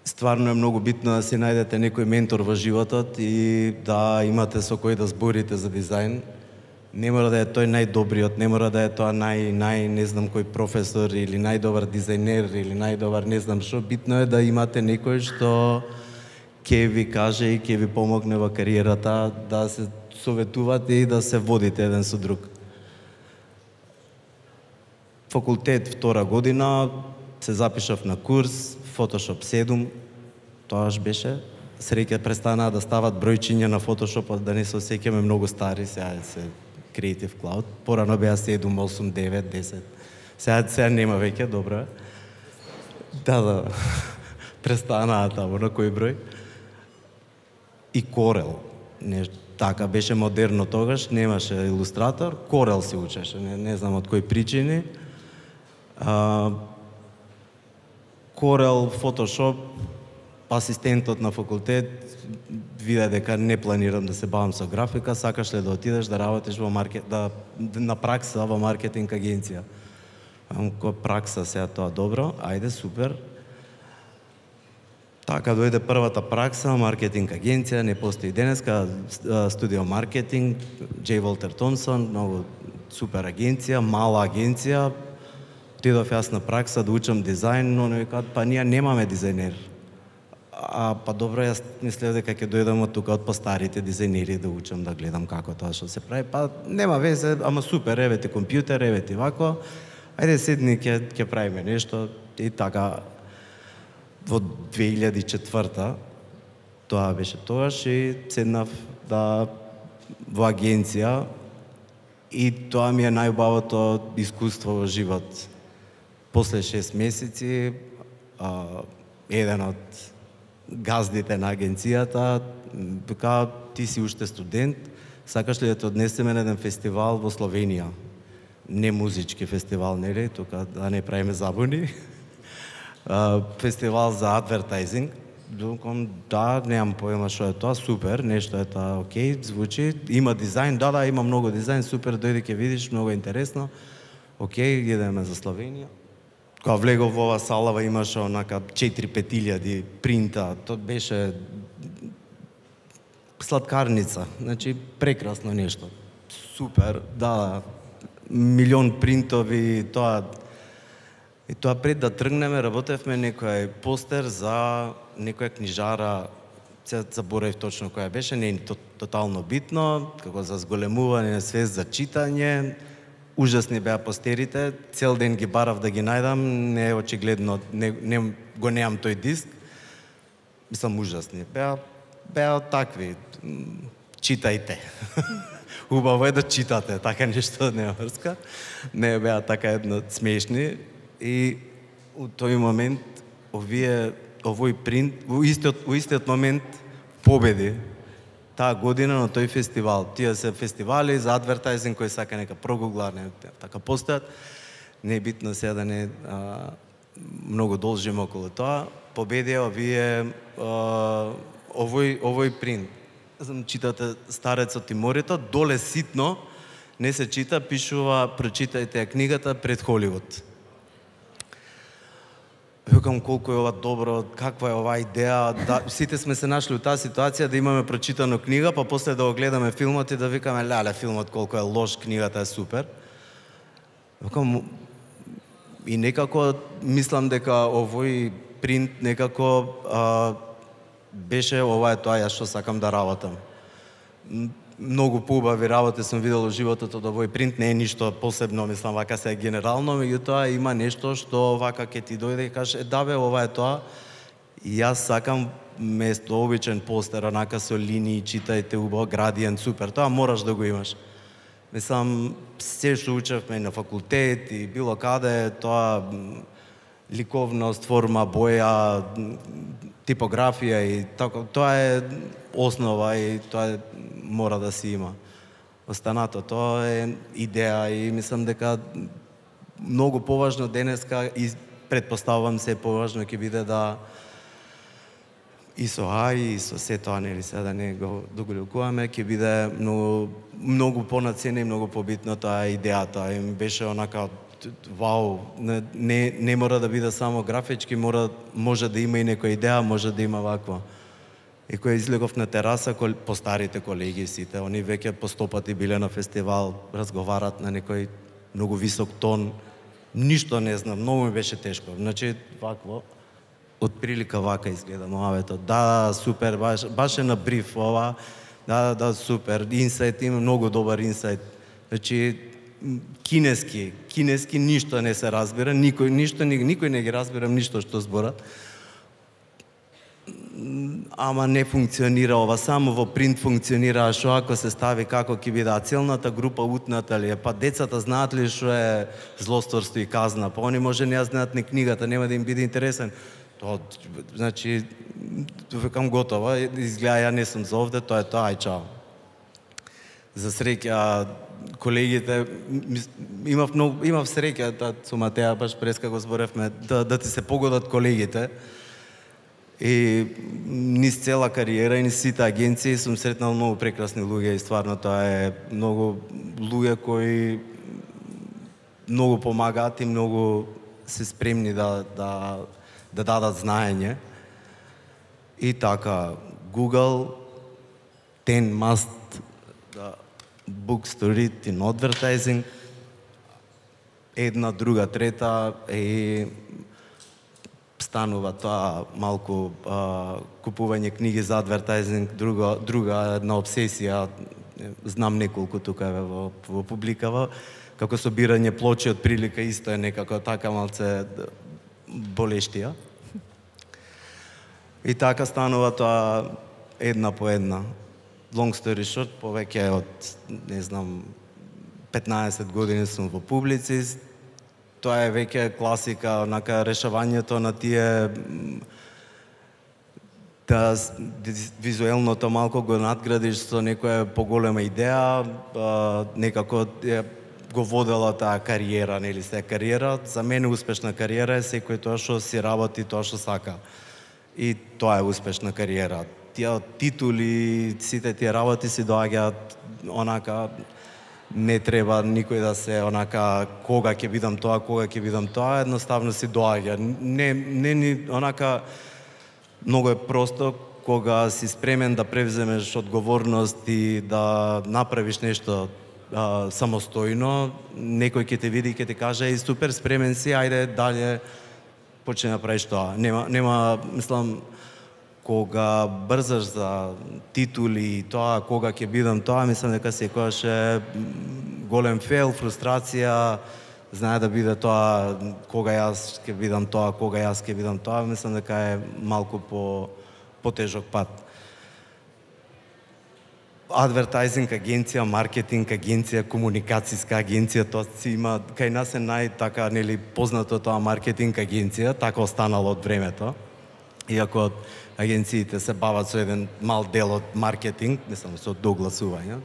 стварно е многу битно да си најдете некој ментор во животот и да имате со кој да зборите за дизајн. Не мора да е тој најдобриот, не мора да е тоа нај, нај не знам кој професор или најдобар дизајнер или најдобар не знам што. Битно е да имате некој што ќе ви каже и ќе ви помогне во кариерата, да се советувате и да се водите еден со друг. Факултет втора година се запишав на курс Photoshop седум, тоаш беше. Среќа престанаа да стават бројчиња на Photoshop, да не се осеќаме многу стари, сега се Creative Cloud. Порано беа седум, осум, девет, десет. Сега, сега нема веќе, добро. Да, да. Престанаа таму на кој број. И Corel. Не, така беше модерно тогаш, немаше илустратор, Corel се учеше, не, не знам од кои причини. А, Corel, Photoshop, асистентот на факултет виде дека не планирам да се бавам со графика, сакаш ли да отидеш да работиш во маркет, да, на пракса во маркетинг агенција. Ко пракса сега тоа добро, ајде супер. Така дојде првата пракса, маркетинг агенција, не постои денеска, студио маркетинг, J. Walter Thompson, многу супер агенција, мала агенција. Отидов јас на пракса да учам дизајн, но не викаат, па ние немаме дизајнер. А па добро, јас мислев дека ќе дојдам од тука од постарите дизајнери да учам, да гледам како тоа што се прави. Па нема везе, ама супер, еве ти компјутер, еве ти вако. Ајде седни, ќе ќе правиме нешто и така. Во две илјади и четврта тоа беше тогаш и седнав да во агенција и тоа ми е најубавото искуство во живот. После шест месеци а, еден од газдите на агенцијата вика, ти си уште студент, сакаш ли да те однесеме на еден фестивал во Словенија? Не музички фестивал, нели, тука да не правиме забуни. Фестивал за адвертайзинг. Докон, да, немам поема што е тоа, супер, нешто е тоа, окей, звучи. Има дизајн, да, да, има многу дизајн, супер, дојди ќе видиш, многу интересно. Окей, идеме за Словенија. Кога влегов во ова салава имаше онака четири-пет илјади принта, тоа беше сладкарница, значи прекрасно нешто. Супер, да, милион принтови, тоа. И тоа пред да тргнеме, работевме некој постер за некоја книжара, се заборев точно која беше, не е тотално битно, како за зголемување на свест за читање. Ужасни беа постерите, цел ден ги барав да ги најдам, не е очигледно, не, не, го неам тој диск. Мислам, ужасни. Беа, беа такви, читајте. Убаво е да читате, така нешто не врска. Не беа така едно смешни. И у тој момент, овие, овој принт, во истиот, во истиот момент победи таа година на тој фестивал. Тие се фестивали за адвертайзинг кои сака нека прогугла, не, така постојат. Не е битно сега да не а, многу должиме околу тоа. Победија овие а, овој овој принт. Знам, читате Старецот и морето, доле ситно не се чита, пишува прочитајте книгата пред Холивуд. Викам колку е ова добро, каква е оваа идеја, да, сите сме се нашли у таа ситуација да имаме прочитано книга, па после да го гледаме филмот и да викаме леле филмот колку е лош, книгата е супер. Викам и некако мислам дека овој принт некако а, беше ова е тоа јас што сакам да работам. Многу поубави работи сум видел во животот од овој принт, не е ништо посебно, мислам, вака се генерално, меѓутоа има нешто што вака ке ти дојде и кажеш, е да бе, ова е тоа. И јас сакам место обичен постер, онака со линии, читајте убаво, градиент, супер, тоа мораш да го имаш. Мислам, се што учевме на факултет и било каде, тоа ликовност, форма, боја, типографија и така, тоа е основа и тоа е, мора да си има. Останато тоа е идеја и мислам дека многу поважно денеска и предпоставувам се поважно ќе биде да и со А I и со се тоа, нели сега да не го доголекуваме, ќе биде многу, многу понацена и многу побитно тоа идејата. И беше онака вау, не, не, не мора да биде само графички, мора, може да има и некоја идеја, може да има вакво. И кој излегов на тераса, кол, по старите колеги сите, они веќе по сто пати биле на фестивал, разговарат на некој многу висок тон, ништо не знам, многу ми беше тешко. Значи, вакво, од прилика вака изгледа Моавето. Да, супер, баш, баш е на бриф ова, да, да, супер, инсайт, има многу добар инсайт. Значи, кинески, кинески ништо не се разбира, никој, ништо, никој не ги разбира ништо што зборат. Ама не функционира ова, само во принт функционира, што ако се стави како ќе биде, а целната група утната ли е, па децата знаат ли што е злосторство и казна, па они може не ја знаат ни книгата, нема да им биде интересен. Тоа, значи, векам готово, изгледа ја не сум за овде, тоа е тоа, ај чао. За среќа, колегите, имав многу, имав среќа, да, со Матеја баш преска го зборевме, да, да ти се погодат колегите. И низ цела кариера и низ сите агенции сум сретнал многу прекрасни луѓе и стварно тоа е многу луѓе кои многу помагаат и многу се спремни да, да, да дадат знаење. И така, Google, ten must the books to read in advertising, една, друга, трета и станува тоа малку а, купување книги за адвертайзинг, друга, друга една обсесија, знам неколку тука во, во публикава, како собирање плочи од прилика исто е некако така малце болештија. И така станува тоа една по една. Long story short, повеќе од, не знам, петнаесет години сум во публицист. Тоа е веќе класика, онака решавањето на тие да визуелното малку го надградиш со некоја поголема идеја, некако го водела таа кариера, нели се кариера. За мене успешна кариера е секој тоа што си работи тоа што сака. И тоа е успешна кариера. Тие титули, сите тие работи си доаѓаат онака, не треба никој да се онака кога ќе бидам тоа, кога ќе бидам тоа, едноставно си доаѓа. Не, не ни онака многу е просто кога си спремен да превземеш одговорност и да направиш нешто а, самостојно, некој ќе те види и ќе ти каже и супер спремен си, ајде дале почни да правиш тоа. Нема нема мислам кога брзаш за титули и тоа, кога ќе бидам тоа, мислам дека секогаш е голем фейл, фрустрација, знае да биде тоа, кога јас ќе бидам тоа, кога јас ќе бидам тоа, мислам дека е малку по потежок пат. Адвертайзинг агенција, маркетинг агенција, комуникацијска агенција, тоа си има, кај нас е најтака, нели, познато тоа маркетинг агенција, така останало од времето. Иако агенциите се бават со еден мал дел од маркетинг, не само со догласување,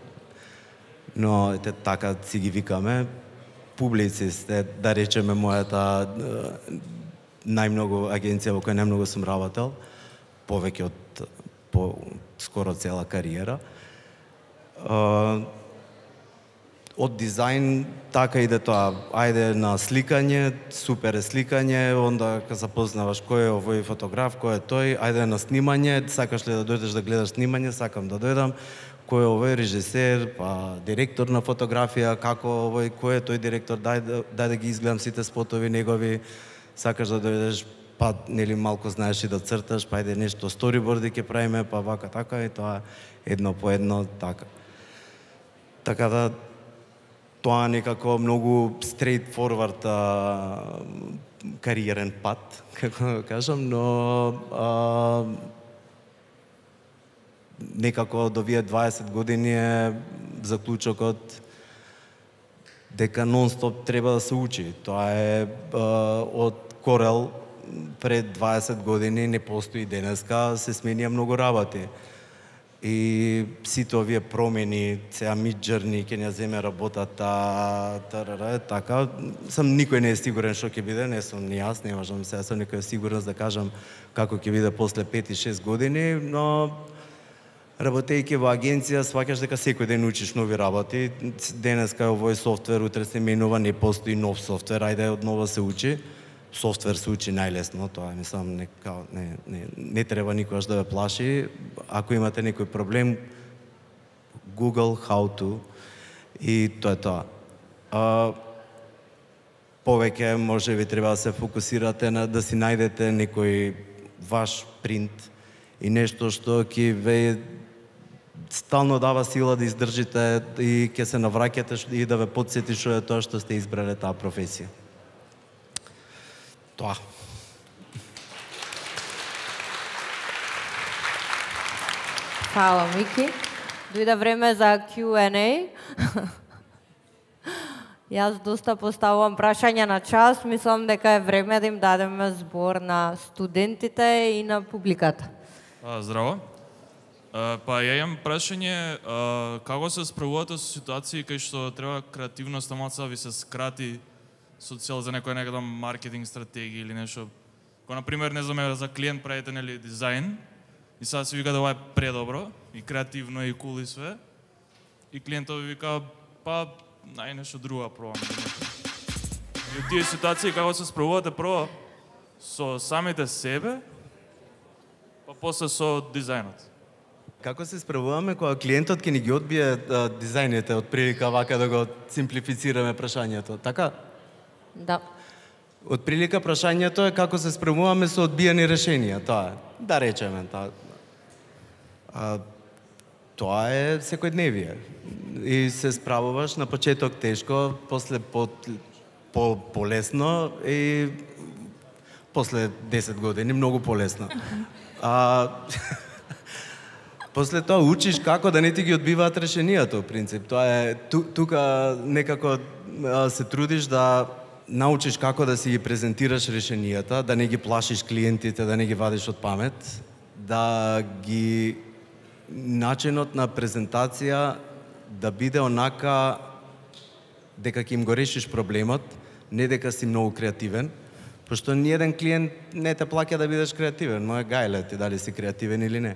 но ете така си ги викаме. Публицист е, да речеме, мојата најмногу агенција во која најмногу сум работел, повеќе од по скоро цела кариера. Од дизајн така иде тоа, ајде на сликање, супер е сликање, онда кога запознаваш кој е овој фотограф, кој е тој, ајде на снимање, сакаш ли да дојдеш да гледаш снимање, сакам да дојдам, кој е овој режисер, па директор на фотографија, како овој, кој е тој директор, дај, дај да ги изгледам сите спотови негови, сакаш да дојдеш, па нели малку знаеш и да црташ, па ајде нешто сториборди ќе правиме, па вака така и тоа едно по едно така. Така да тоа некако многу straight forward а, кариерен пат, како да кажам, но а, некако до вие дваесет години е заклучокот дека нон-стоп треба да се учи. Тоа е а, од Корел пред дваесет години не постои денеска, се сменија многу работи. И сите овие промени, сега Midjourney ќе не земе работата, тарара, така, сам никој не е сигурен што ќе биде, не сум ни јас, не можам сега со некоја сигурност да кажам како ќе биде после пет и шест години, но Работејќи во агенција, сваќаш дека секој ден учиш нови работи. Денеска е овој софтвер, утре се менува, не постои нов софтвер, ајде одново се учи. Софтвер се учи најлесно, тоа мислам не, не, не, не треба никогаш да ве плаши. Ако имате некој проблем, Google how to и тоа е тоа. А, повеќе може би треба да се фокусирате на да си најдете некој ваш принт и нешто што ќе ве стално дава сила да издржите и ќе се навраќате и да ве потсети што е тоа што сте избрале таа професија. Тоа. Фала, Мики. Дојде време за Q and A. Јас доста поставувам прашања на час, мислам дека е време да им дадеме збор на студентите и на публиката. А, здраво. А, па ја имам прашање, а, како се справувате со ситуации кај што треба креативноста малку ви се скрати со цел за некоја некада маркетинг стратегија или нешто. Кој на пример, не знам, за клиент правите нели дизајн и сега си вика да ова е предобро и креативно и кул и све. И клиентот ви вика па нај нешто друго пробам. И од тие ситуации како се справувате прво со самите себе, па после со дизајнот? Како се справуваме кога клиентот ќе ни ги одбие а, дизајните, од прилика вака да го симплифицираме прашањето, така? Да. Од прилика прашањето е како се справуваме со одбиени решенија, тоа е. Да речеме, тоа. А, тоа е секојдневие. И се справуваш на почеток тешко, после по, по полесно и после десет години многу полесно. А после тоа учиш како да не ти ги одбиваат решенијата, во принцип. Тоа е ту, тука некако а, се трудиш да научиш како да си ги презентираш решенијата, да не ги плашиш клиентите, да не ги вадиш од памет, да ги начинот на презентација да биде онака дека ќе им го решиш проблемот, не дека си многу креативен, пошто ниеден клиент не те плаќа да бидеш креативен, но е гајле ти дали си креативен или не.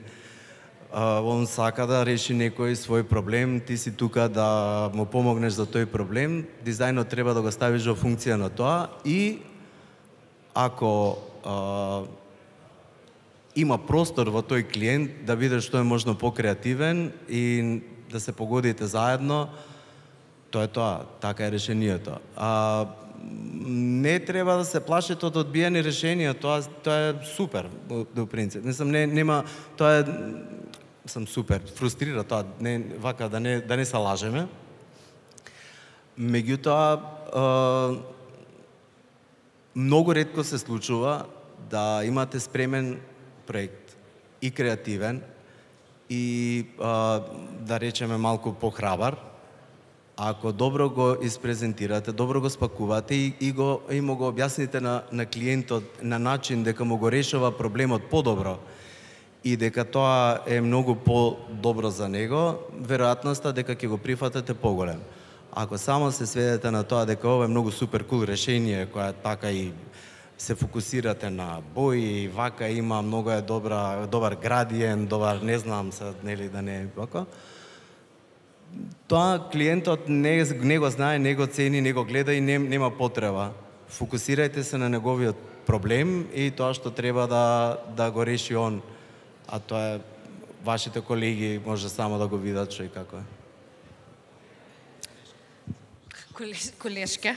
Uh, он сака да реши некој свој проблем, ти си тука да му помогнеш за тој проблем, дизајнот треба да го ставиш во функција на тоа и ако uh, има простор во тој клиент да биде што е можно покреативен и да се погодите заедно, тоа е тоа, така е решението. А, не треба да се плашите од одбиени решенија, тоа тоа е супер до принцип. Не сам не нема тоа е сам супер, фрустрира тоа, не вака да не да не се лажеме. Меѓутоа е, многу ретко се случува да имате спремен проект и креативен и е, да речеме малку похрабар. Ако добро го испрезентирате, добро го спакувате и, и го и му го објасните на на клиентот на начин дека му го решава проблемот подобро и дека тоа е многу по-добро за него, веројатноста дека ќе го прифатите поголем. Ако само се сведете на тоа дека ова е многу супер кул решение, која така и се фокусирате на бои, и вака има многу е добра, добар градиент, добар не знам се, нели да не е вака, тоа клиентот не, не го знае, не го цени, не го гледа и не, нема потреба. Фокусирајте се на неговиот проблем и тоа што треба да, да го реши он. А тоа е, вашите колеги може само да го видат што и како е. Колешка.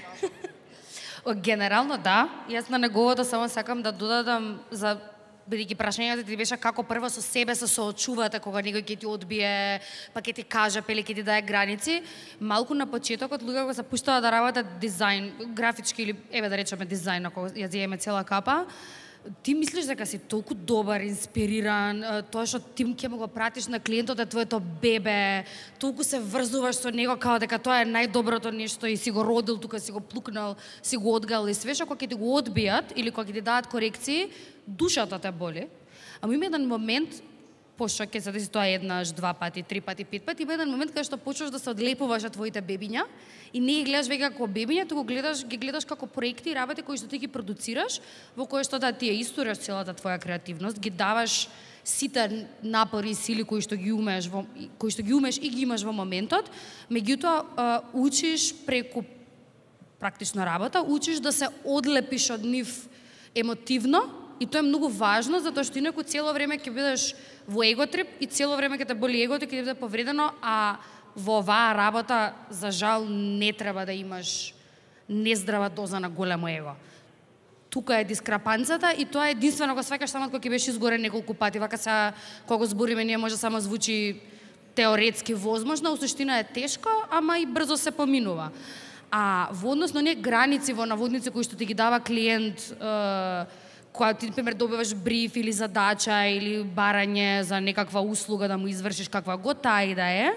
Генерално да, јас на неговото само сакам да додадам за бидејќи прашањето ти беше како прво со себе се соочувате кога некој ќе ти одбие, па ќе ти каже, пеле ќе ти даде граници. Малку на почетокот луѓе кога се пуштаат да работат дизајн, графички или еве да речеме дизајн, ако ја земеме цела капа, ти мислиш дека си толку добар, инспириран, тоа што ти ќе му го пратиш на клиентот е твоето бебе, толку се врзуваш со него као дека тоа е најдоброто нешто и си го родил тука, си го плукнал, си го одгал и све што кога ќе ти го одбијат или кога ќе ти дадат корекции, душата те боли. Ама има еден момент пошто ќе се деси тоа еднаш, два пати, три пати, пет пати, има еден момент каде што почнуваш да се одлепуваш од твоите бебиња и не ги гледаш веќе како бебиња, туку гледаш, ги гледаш како проекти и работи кои што ти ги продуцираш, во кои што да ти ја истораш целата твоја креативност, ги даваш сите напори и сили кои што ги умееш во кои што ги умееш и ги имаш во моментот, меѓутоа учиш преку практична работа, учиш да се одлепиш од нив емотивно. И тоа е многу важно, затоа што инаку цело време ќе бидеш во еготрип и цело време ќе те боли егото, ќе ти биде повредено, а во оваа работа, за жал, не треба да имаш нездрава доза на големо его. Тука е дискрапанцата и тоа е единствено го сваќаш само кога ќе беше изгорен неколку пати. Вака са, кога го збориме, ние може само звучи теоретски возможно, у суштина е тешко, ама и брзо се поминува. А во однос на оние граници во наводници кои што ти ги дава клиент, кога ти, например, добиваш бриф или задача или барање за некаква услуга да му извршиш каква го таа и да е,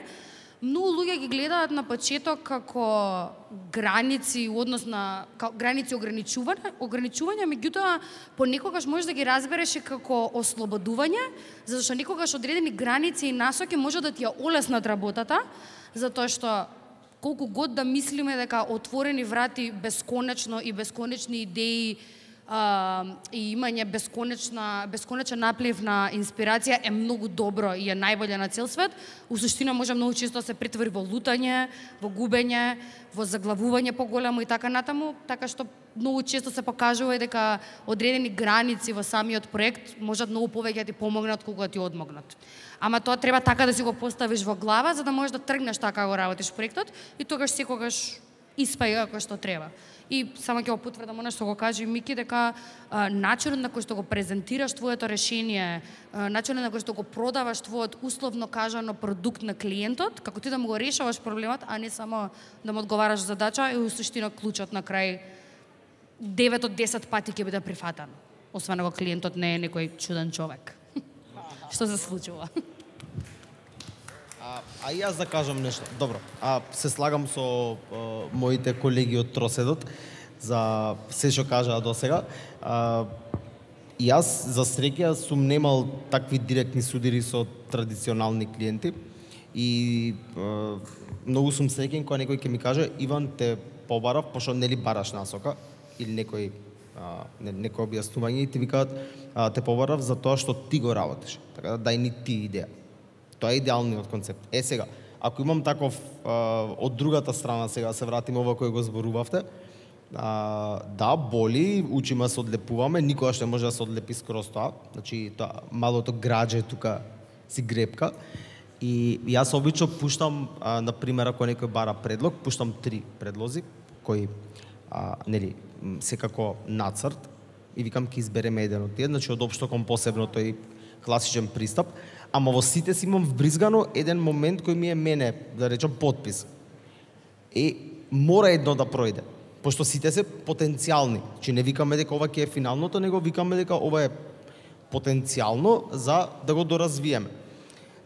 многу луѓе ги гледаат на почеток како граници, однос на граници ограничување, ограничување, меѓутоа понекогаш можеш да ги разбереш и како ослободување, затоа што некогаш одредени граници и насоки може да ти ја олеснат работата, затоа што колку год да мислиме дека отворени врати бесконечно и бесконечни идеи Uh, и имање бесконечна, бесконечен наплив на инспирација е многу добро и е најболje на цел свет. У суштина може многу често да се претвори во лутање, во губење, во заглавување поголемо и така натаму, така што многу често се покажува и дека одредени граници во самиот проект можат многу повеќе да ти помогнат колку да ти одмогнат. Ама тоа треба така да си го поставиш во глава за да можеш да тргнеш така го работиш проектот и тогаш секогаш испаи како што треба. И само ќе го потврдам она што го кажа Мики, дека а, начинот на кој што го презентираш твоето решение, а, начинот на кој што го продаваш твојот условно кажано продукт на клиентот, како ти да му го решаваш проблемот, а не само да му одговараш задача, е у суштина клучот на крај девет од десет пати ќе биде прифатан. Освен ако клиентот не е некој чуден човек. Што се случува? А, а и јас да кажам нешто. Добро, а се слагам со а, моите колеги од Троседот за се што кажаа досега. А, и јас за среќа сум немал такви директни судири со традиционални клиенти и а, многу сум среќен кога некој ќе ми каже Иван те побарав, пошто нели бараш насока или некој а, не, некој објаснување и ти викаат а, те побарав за тоа што ти го работиш. Така да дај ни ти идеја. Тоа е идеалниот концепт. Е сега, ако имам таков а, од другата страна, сега се вратиме ова кој го зборувавте, а, да, боли, учиме се одлепуваме, никогаш не може да се одлепи скроз тоа, значи тоа малото градже тука си гребка. И јас обично пуштам, а, на пример, ако некој бара предлог, пуштам три предлози, кои, а, нели, секако нацрт, и викам ке избереме еден од тие, значи од општо кон посебно тој класичен пристап, ама во сите си имам вбризгано еден момент кој ми е мене, да речам, подпис. Е, мора едно да пројде, пошто сите се потенцијални. Че не викаме дека ова ќе е финалното, него викаме дека ова е потенцијално за да го доразвиеме.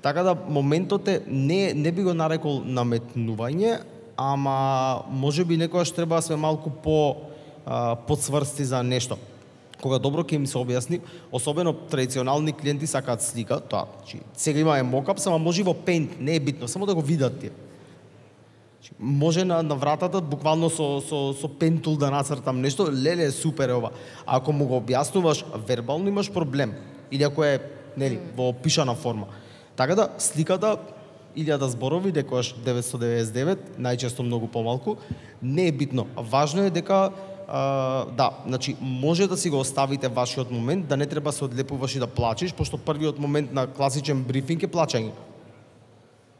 Така да моментот е, не, не би го нарекол наметнување, ама може би некојаш треба да сме малку по а, подсврсти за нешто. Кога добро ќе им се објасни, особено традиционални клиенти сакаат слика, тоа, значи сега имаме мокап, само може во Paint, не е битно, само да го видат тие. Значи, може на, на вратата буквално со со со пентул да нацртам нешто, леле супер е ова. А ако му го објаснуваш вербално имаш проблем или ако е, нели, во пишана форма. Така да сликата илјада зборови, некојаш деветстотини деветдесет и девет, најчесто многу помалку, не е битно. Важно е дека Uh, да, значи може да си го оставите вашиот момент, да не треба се одлепуваш и да плачеш, пошто првиот момент на класичен брифинг е плачење.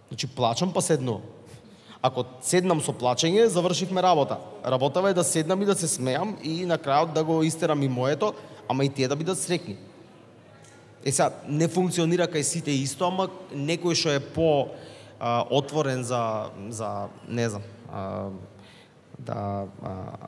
Значи плачам па седнувам. Ако седнам со плачење, завршивме работа. Работава е да седнам и да се смеам и на крајот да го истерам и моето, ама и тие да бидат среќни. Е сега, не функционира кај сите исто, ама некој што е по а, отворен за, за не знам, а, да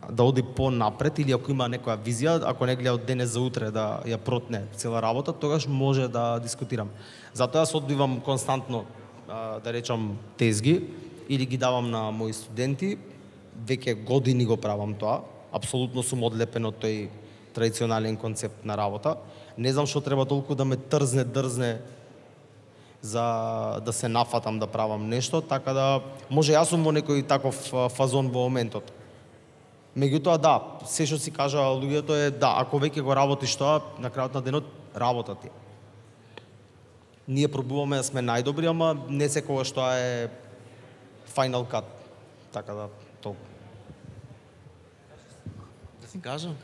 да оди понапред или ако има некоја визија, ако не гледа од денес за утре да ја протне цела работа, тогаш може да дискутирам. Затоа јас одбивам константно, да речам, тезги или ги давам на мои студенти. Веќе години го правам тоа. Апсолутно сум одлепен од тој традиционален концепт на работа. Не знам што треба толку да ме трзне, дрзне за да се нафатам да правам нешто, така да може јас сум во некој таков фазон во моментот. Меѓутоа да, се што си кажа луѓето е да, ако веќе го работиш тоа, на крајот на денот работа ти. Ние пробуваме да сме најдобри, ама не секогаш тоа е final cut. Така да толку. Да си кажам?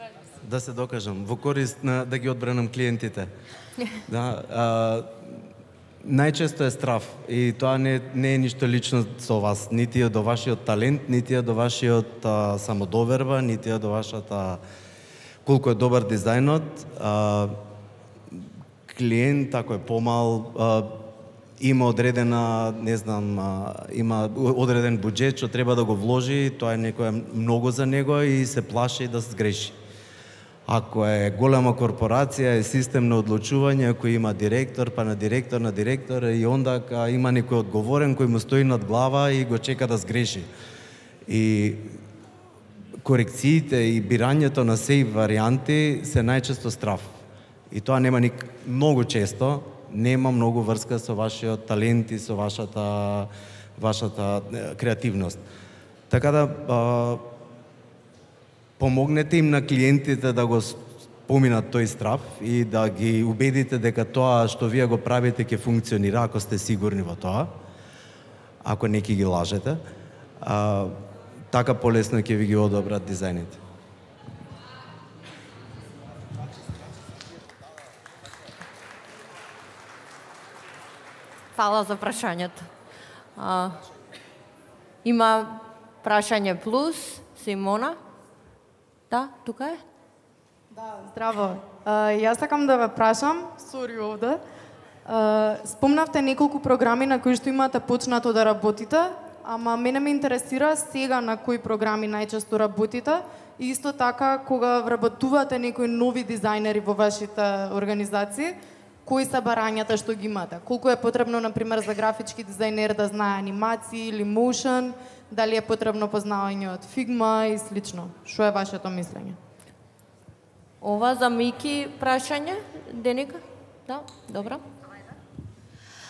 Да се докажам во корист на да ги одбранам клиентите. Да, а, најчесто е страв и тоа не, не е ништо лично со вас, нити е до вашиот талент, нити е до вашиот а, самодоверба, нити е до вашата колку е добар дизајнот. А, клиент, ако е помал, а, има одредена, не знам, а, има одреден буџет што треба да го вложи, тоа е некоја многу за него и се плаши да сгреши. Ако е голема корпорација, е систем на одлучување, ако има директор, па на директор, на директор, и онда има некој одговорен кој му стои над глава и го чека да сгреши. И корекциите и бирањето на сеи варијанти се најчесто страв. И тоа нема ник... многу често, нема многу врска со вашиот талент и со вашата, вашата креативност. Така да, а, помогнете им на клиентите да го поминат тој страв и да ги убедите дека тоа што вие го правите ќе функционира, ако сте сигурни во тоа, ако не ќе ги лажете, а, така полесно ќе ви ги одобрат дизајните. Фала за прашањето. А, има прашање плюс, Симона? Да, тука е? Да, здраво. А, јас сакам да ве прашам, сори овде. А, спомнавте неколку програми на кои што имате почнато да работите, ама мене ме интересира сега на кои програми најчесто работите и исто така кога вработувате некои нови дизајнери во вашите организации, кои се барањата што ги имате? Колку е потребно, например, за графички дизајнер да знае анимации или моушен, дали е потребно познавање од Figma и слично? Што е вашето мислење? Ова за Мики прашање, Деника? Да, добро.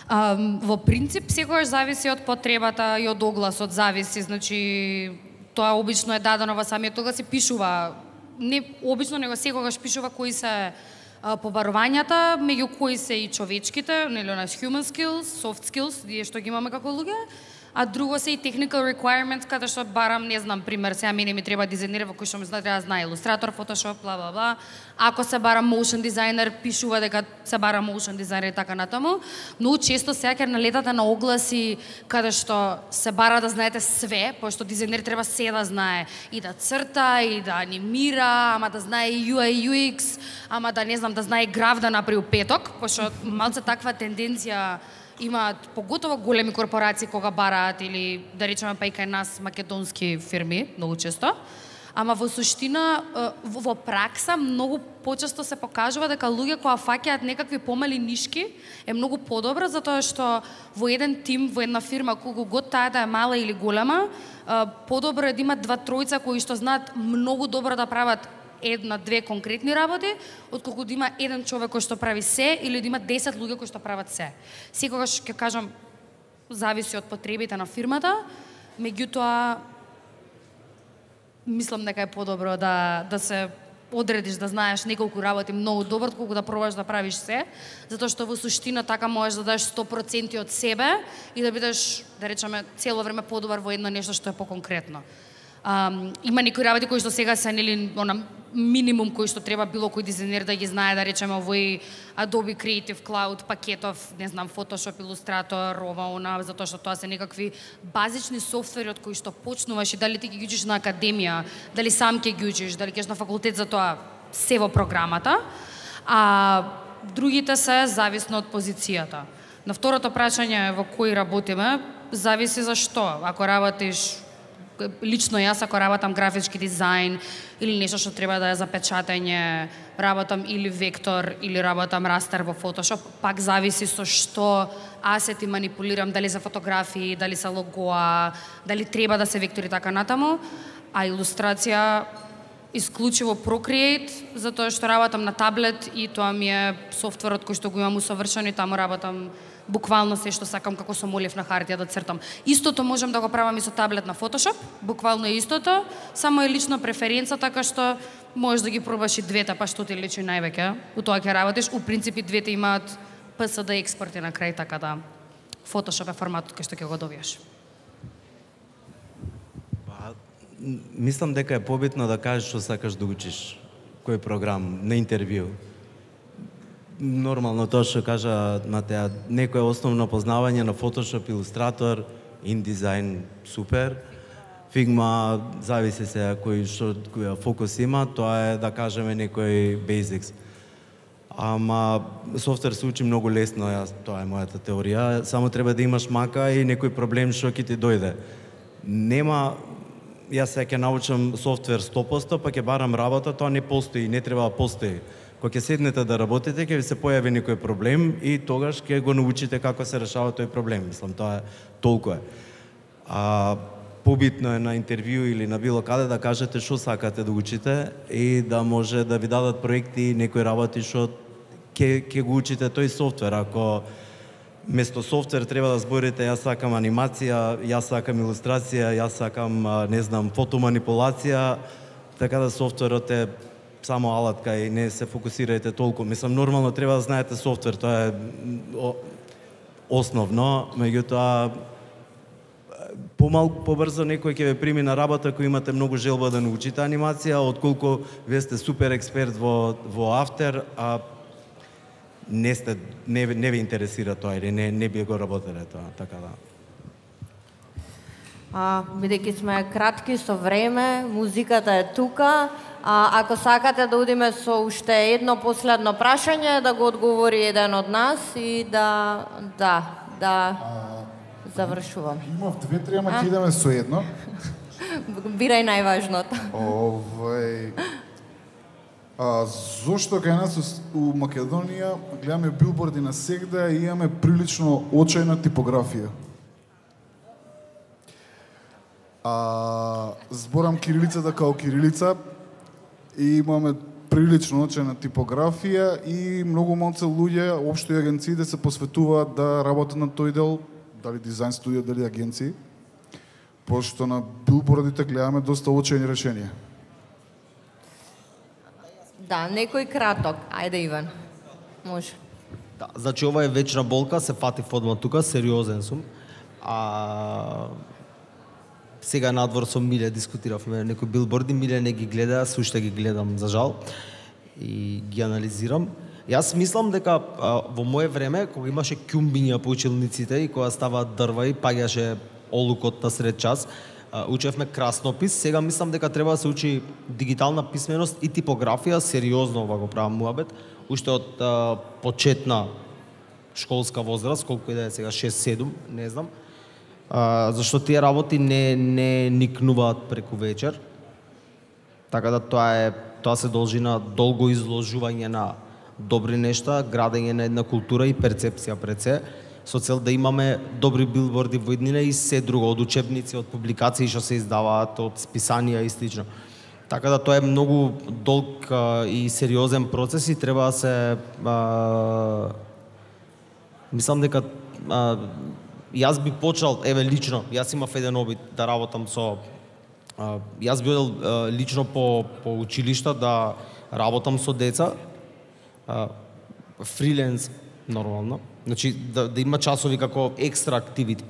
А, во принцип, секогаш зависи од потребата и од огласот, зависи, значи, тоа обично е дадено во самиот оглас и пишува, не, обично него секогаш пишува кои се побарувањата, меѓу кои се и човечките, нели она human skills, soft skills, ние што ги имаме како луѓе, а друго се и technical requirements, каде што барам, не знам, пример, сега мене ми треба дизајнер во кој што ми знае да знае илустратор, Photoshop, бла бла бла. Ако се бара motion дизајнер, пишува дека се бара motion дизајнер и така натаму. Многу често сега ќе налетате на огласи каде што се бара да знаете све, пошто дизајнер треба се да знае, и да црта, и да анимира, ама да знае и ю ай ю екс, ама да не знам да знае граф да направи петок, пошто малце таква тенденција имаат поготово големи корпорации кога бараат или да речеме па и кај нас македонски фирми многу често. Ама во суштина во пракса многу почесто се покажува дека луѓе кои фаќаат некакви помали нишки е многу подобро, затоа што во еден тим, во една фирма, колку год таа да е мала или голема, подобро е да имат два тројца кои што знаат многу добро да прават една-две конкретни работи, отколку да има еден човек кој што прави се или да има десет луѓе кои што прават се. Секогаш ќе кажам зависи од потребите на фирмата, меѓутоа мислам дека е подобро да да се одредиш да знаеш неколку работи многу добро, отколку да пробаш да правиш се, затоа што во суштина така можеш да дадеш сто проценти од себе и да бидеш, да речеме, цело време подобар во едно нешто што е поконкретно. Um, има некои работи кои што сега се нели она минимум кои што треба било кој дизајнер да ги знае, да речеме овој Adobe Creative Cloud пакетов, не знам, Photoshop, Illustrator, ова она, затоа што тоа се некакви базични софтвери од кои што почнуваш и дали ти ги учиш на академија, дали сам ќе ги учиш, дали ќе на факултет за тоа, се во програмата. А другите се зависно од позицијата. На второто прашање во кои работиме, зависи за што. Ако работиш лично јас ако работам графички дизајн или нешто што треба да е за печатање, работам или вектор или работам растер во Photoshop, пак зависи со што асети манипулирам, дали за фотографии, дали за логоа, дали треба да се вектори така натаму, а илустрација исклучиво Procreate, затоа што работам на таблет и тоа ми е софтверот кој што го имам усовршен и таму работам буквално се што сакам како со молив на хартија да цртам. Истото можам да го правам и со таблет на Photoshop, буквално е истото, само е лична преференца, така што можеш да ги пробаш и двете, па што ти личи највеќе. У тоа ќе работиш, у принципи двете имаат Пи Ес Ди експорти на крај, така да Photoshop е форматот кај што ќе го добиеш. Мислам дека е побитно да кажеш што сакаш да учиш, кој програм, на интервју. Нормално тоа што кажа Матеа, некој основно познавање на Photoshop, Illustrator, InDesign, супер. Figma, зависи се кој што кој фокус има, тоа е да кажеме некој basics. Ама софтвер се учи многу лесно, јас, тоа е мојата теорија, само треба да имаш мака и некој проблем што ќе ти дојде. Нема, јас сега ќе научам софтвер сто проценти, па ќе барам работа, тоа не постои, не треба да постои. Кога ќе седнете да работите, ќе ви се појави некој проблем и тогаш ќе го научите како се решава тој проблем. Мислам, тоа е толку е. А побитно е на интервју или на било каде да кажете што сакате да учите и да може да ви дадат проекти и некои работи што ќе ќе го учите тој софтвер. Ако место софтвер треба да зборите јас сакам анимација, јас сакам илустрација, јас сакам не знам фотоманипулација, така да софтверот е само алатка и не се фокусирајте толку. Мислам, нормално треба да знаете софтвер, тоа е основно, меѓутоа помалку побрзо некој ќе ве прими на работа кој имате многу желба да научите анимација, отколку вие сте супер експерт во во After, а не сте не не ви интересира тоа или не не би го работеле тоа, така да. А, бидејќи сме кратки со време, музиката е тука. А, ако сакате да одиме со уште едно последно прашање, да го одговори еден од нас и да да да завршувам. Имав две-три, ама ќе идеме со едно. Бирај најважното. Овај А, зошто кај нас у Македонија гледаме билборди на сегда и имаме прилично очајна типографија? А, зборам кирилицата као кирилица и имаме прилично очајна типографија и многу малце луѓе, општо и агенции да се посветуваат да работат на тој дел, дали дизајн студија, дали агенции, пошто на билбордите гледаме доста очајни решенија. Да, некој краток. Ајде, Иван. Може. Да, значи ова е вечна болка, се фатив одма тука, сериозен сум. А сега надвор со Миле дискутиравме некои билборди, Миле не ги гледа, суште ги гледам за жал и ги анализирам. Јас мислам дека а, во мое време, кога имаше ќумбиња по училниците и кога ставаат дрва и паѓаше олукот на сред час, учевме краснопис, сега мислам дека треба да се учи дигитална писменост и типографија, сериозно ова го правам муабет, уште од а, почетна школска возраст, колку и да е сега шест-седум, не знам. А, зашто тие работи не не никнуваат преку вечер. Така да тоа е тоа се должи на долго изложување на добри нешта, градење на една култура и перцепција пред се, со цел да имаме добри билборди во иднина и се друго, од учебници, од публикации што се издаваат, од списанија и слично. Така да тоа е многу долг а, и сериозен процес и треба да се а, мислам дека а, јас би почнал, еве лично, јас имав еден обид да работам со а, јас би одел а, лично по по училишта да работам со деца, а, фриленс нормално. Значи, да, да има часови како екстра активити.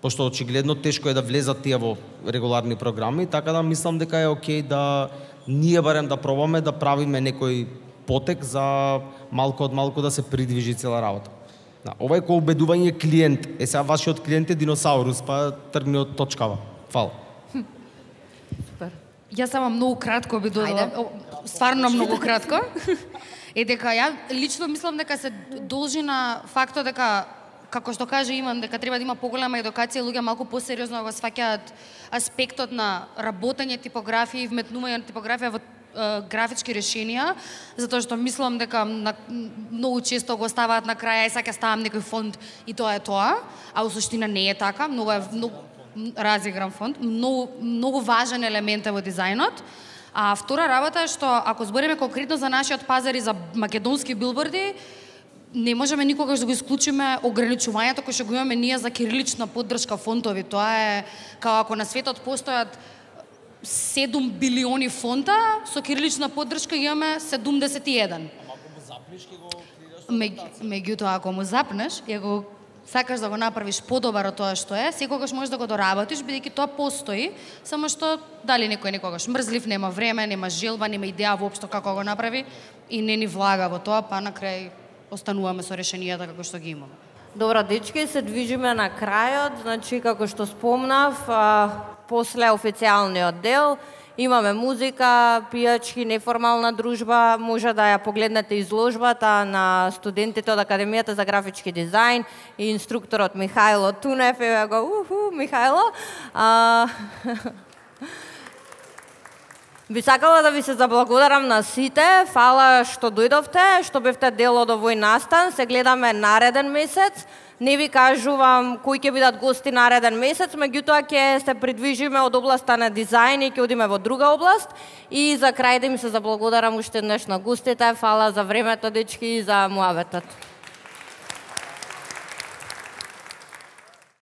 Пошто очигледно тешко е да влезат тие во регуларни програми, така да мислам дека е окей да ние барем да пробаме да правиме некој потек за малку од малку да се придвижи цела работа. Да, ова е кој убедување клиент. Е, сега вашиот клиент е диносаурус, па тргни од точкава. Фала. Супер. Јас само многу кратко би додала, стварно многу кратко. Е дека ја лично мислам дека се должи на фактот дека, како што каже Иван, дека треба да има поголема едукација, луѓе малку посериозно го сваќаат аспектот на работење типографија и вметнување на типографија во е, графички решенија, затоа што мислам дека на, многу често го ставаат на крај, ај сега ставам некој фонд и тоа е тоа, а во суштина не е така, многу е многу разигран фонд, многу многу важен елемент е во дизајнот. А втора работа е што ако збориме конкретно за нашиот пазар и за македонски билборди, не можеме никогаш да го исклучиме ограничувањето кој што го имаме ние за кирилична поддршка фонтови. Тоа е како ако на светот постојат седум билиони фонта, со кирилична поддршка имаме седумдесет и еден. Ама ако му запнеш ќе го крираш Меѓутоа ако му запнеш и го сакаш да го направиш подобар од тоа што е, секогаш можеш да го доработиш бидејќи тоа постои, само што дали некој некогаш мрзлив, нема време, нема желба, нема идеја воопшто како го направи и не ни влага во тоа, па на крај остануваме со решенијата како што ги имаме. Добро, дечки, се движиме на крајот, значи како што спомнав, а, после официјалниот дел имаме музика, пијачки, неформална дружба, може да ја погледнете изложбата на студентите од Академијата за графички дизајн и инструкторот Михајло Тунев, еве го, уху, Михајло. А... Би сакала да ви се заблагодарам на сите, фала што дојдовте, што бевте дел од овој настан, се гледаме нареден месец. Не ви кажувам кои ќе бидат гости нареден месец, меѓутоа ќе се придвижиме од областа на дизајн и ќе одиме во друга област. И за крај да им се заблагодарам уште еднаш на гостите, фала за времето, дечки, и за муабетот.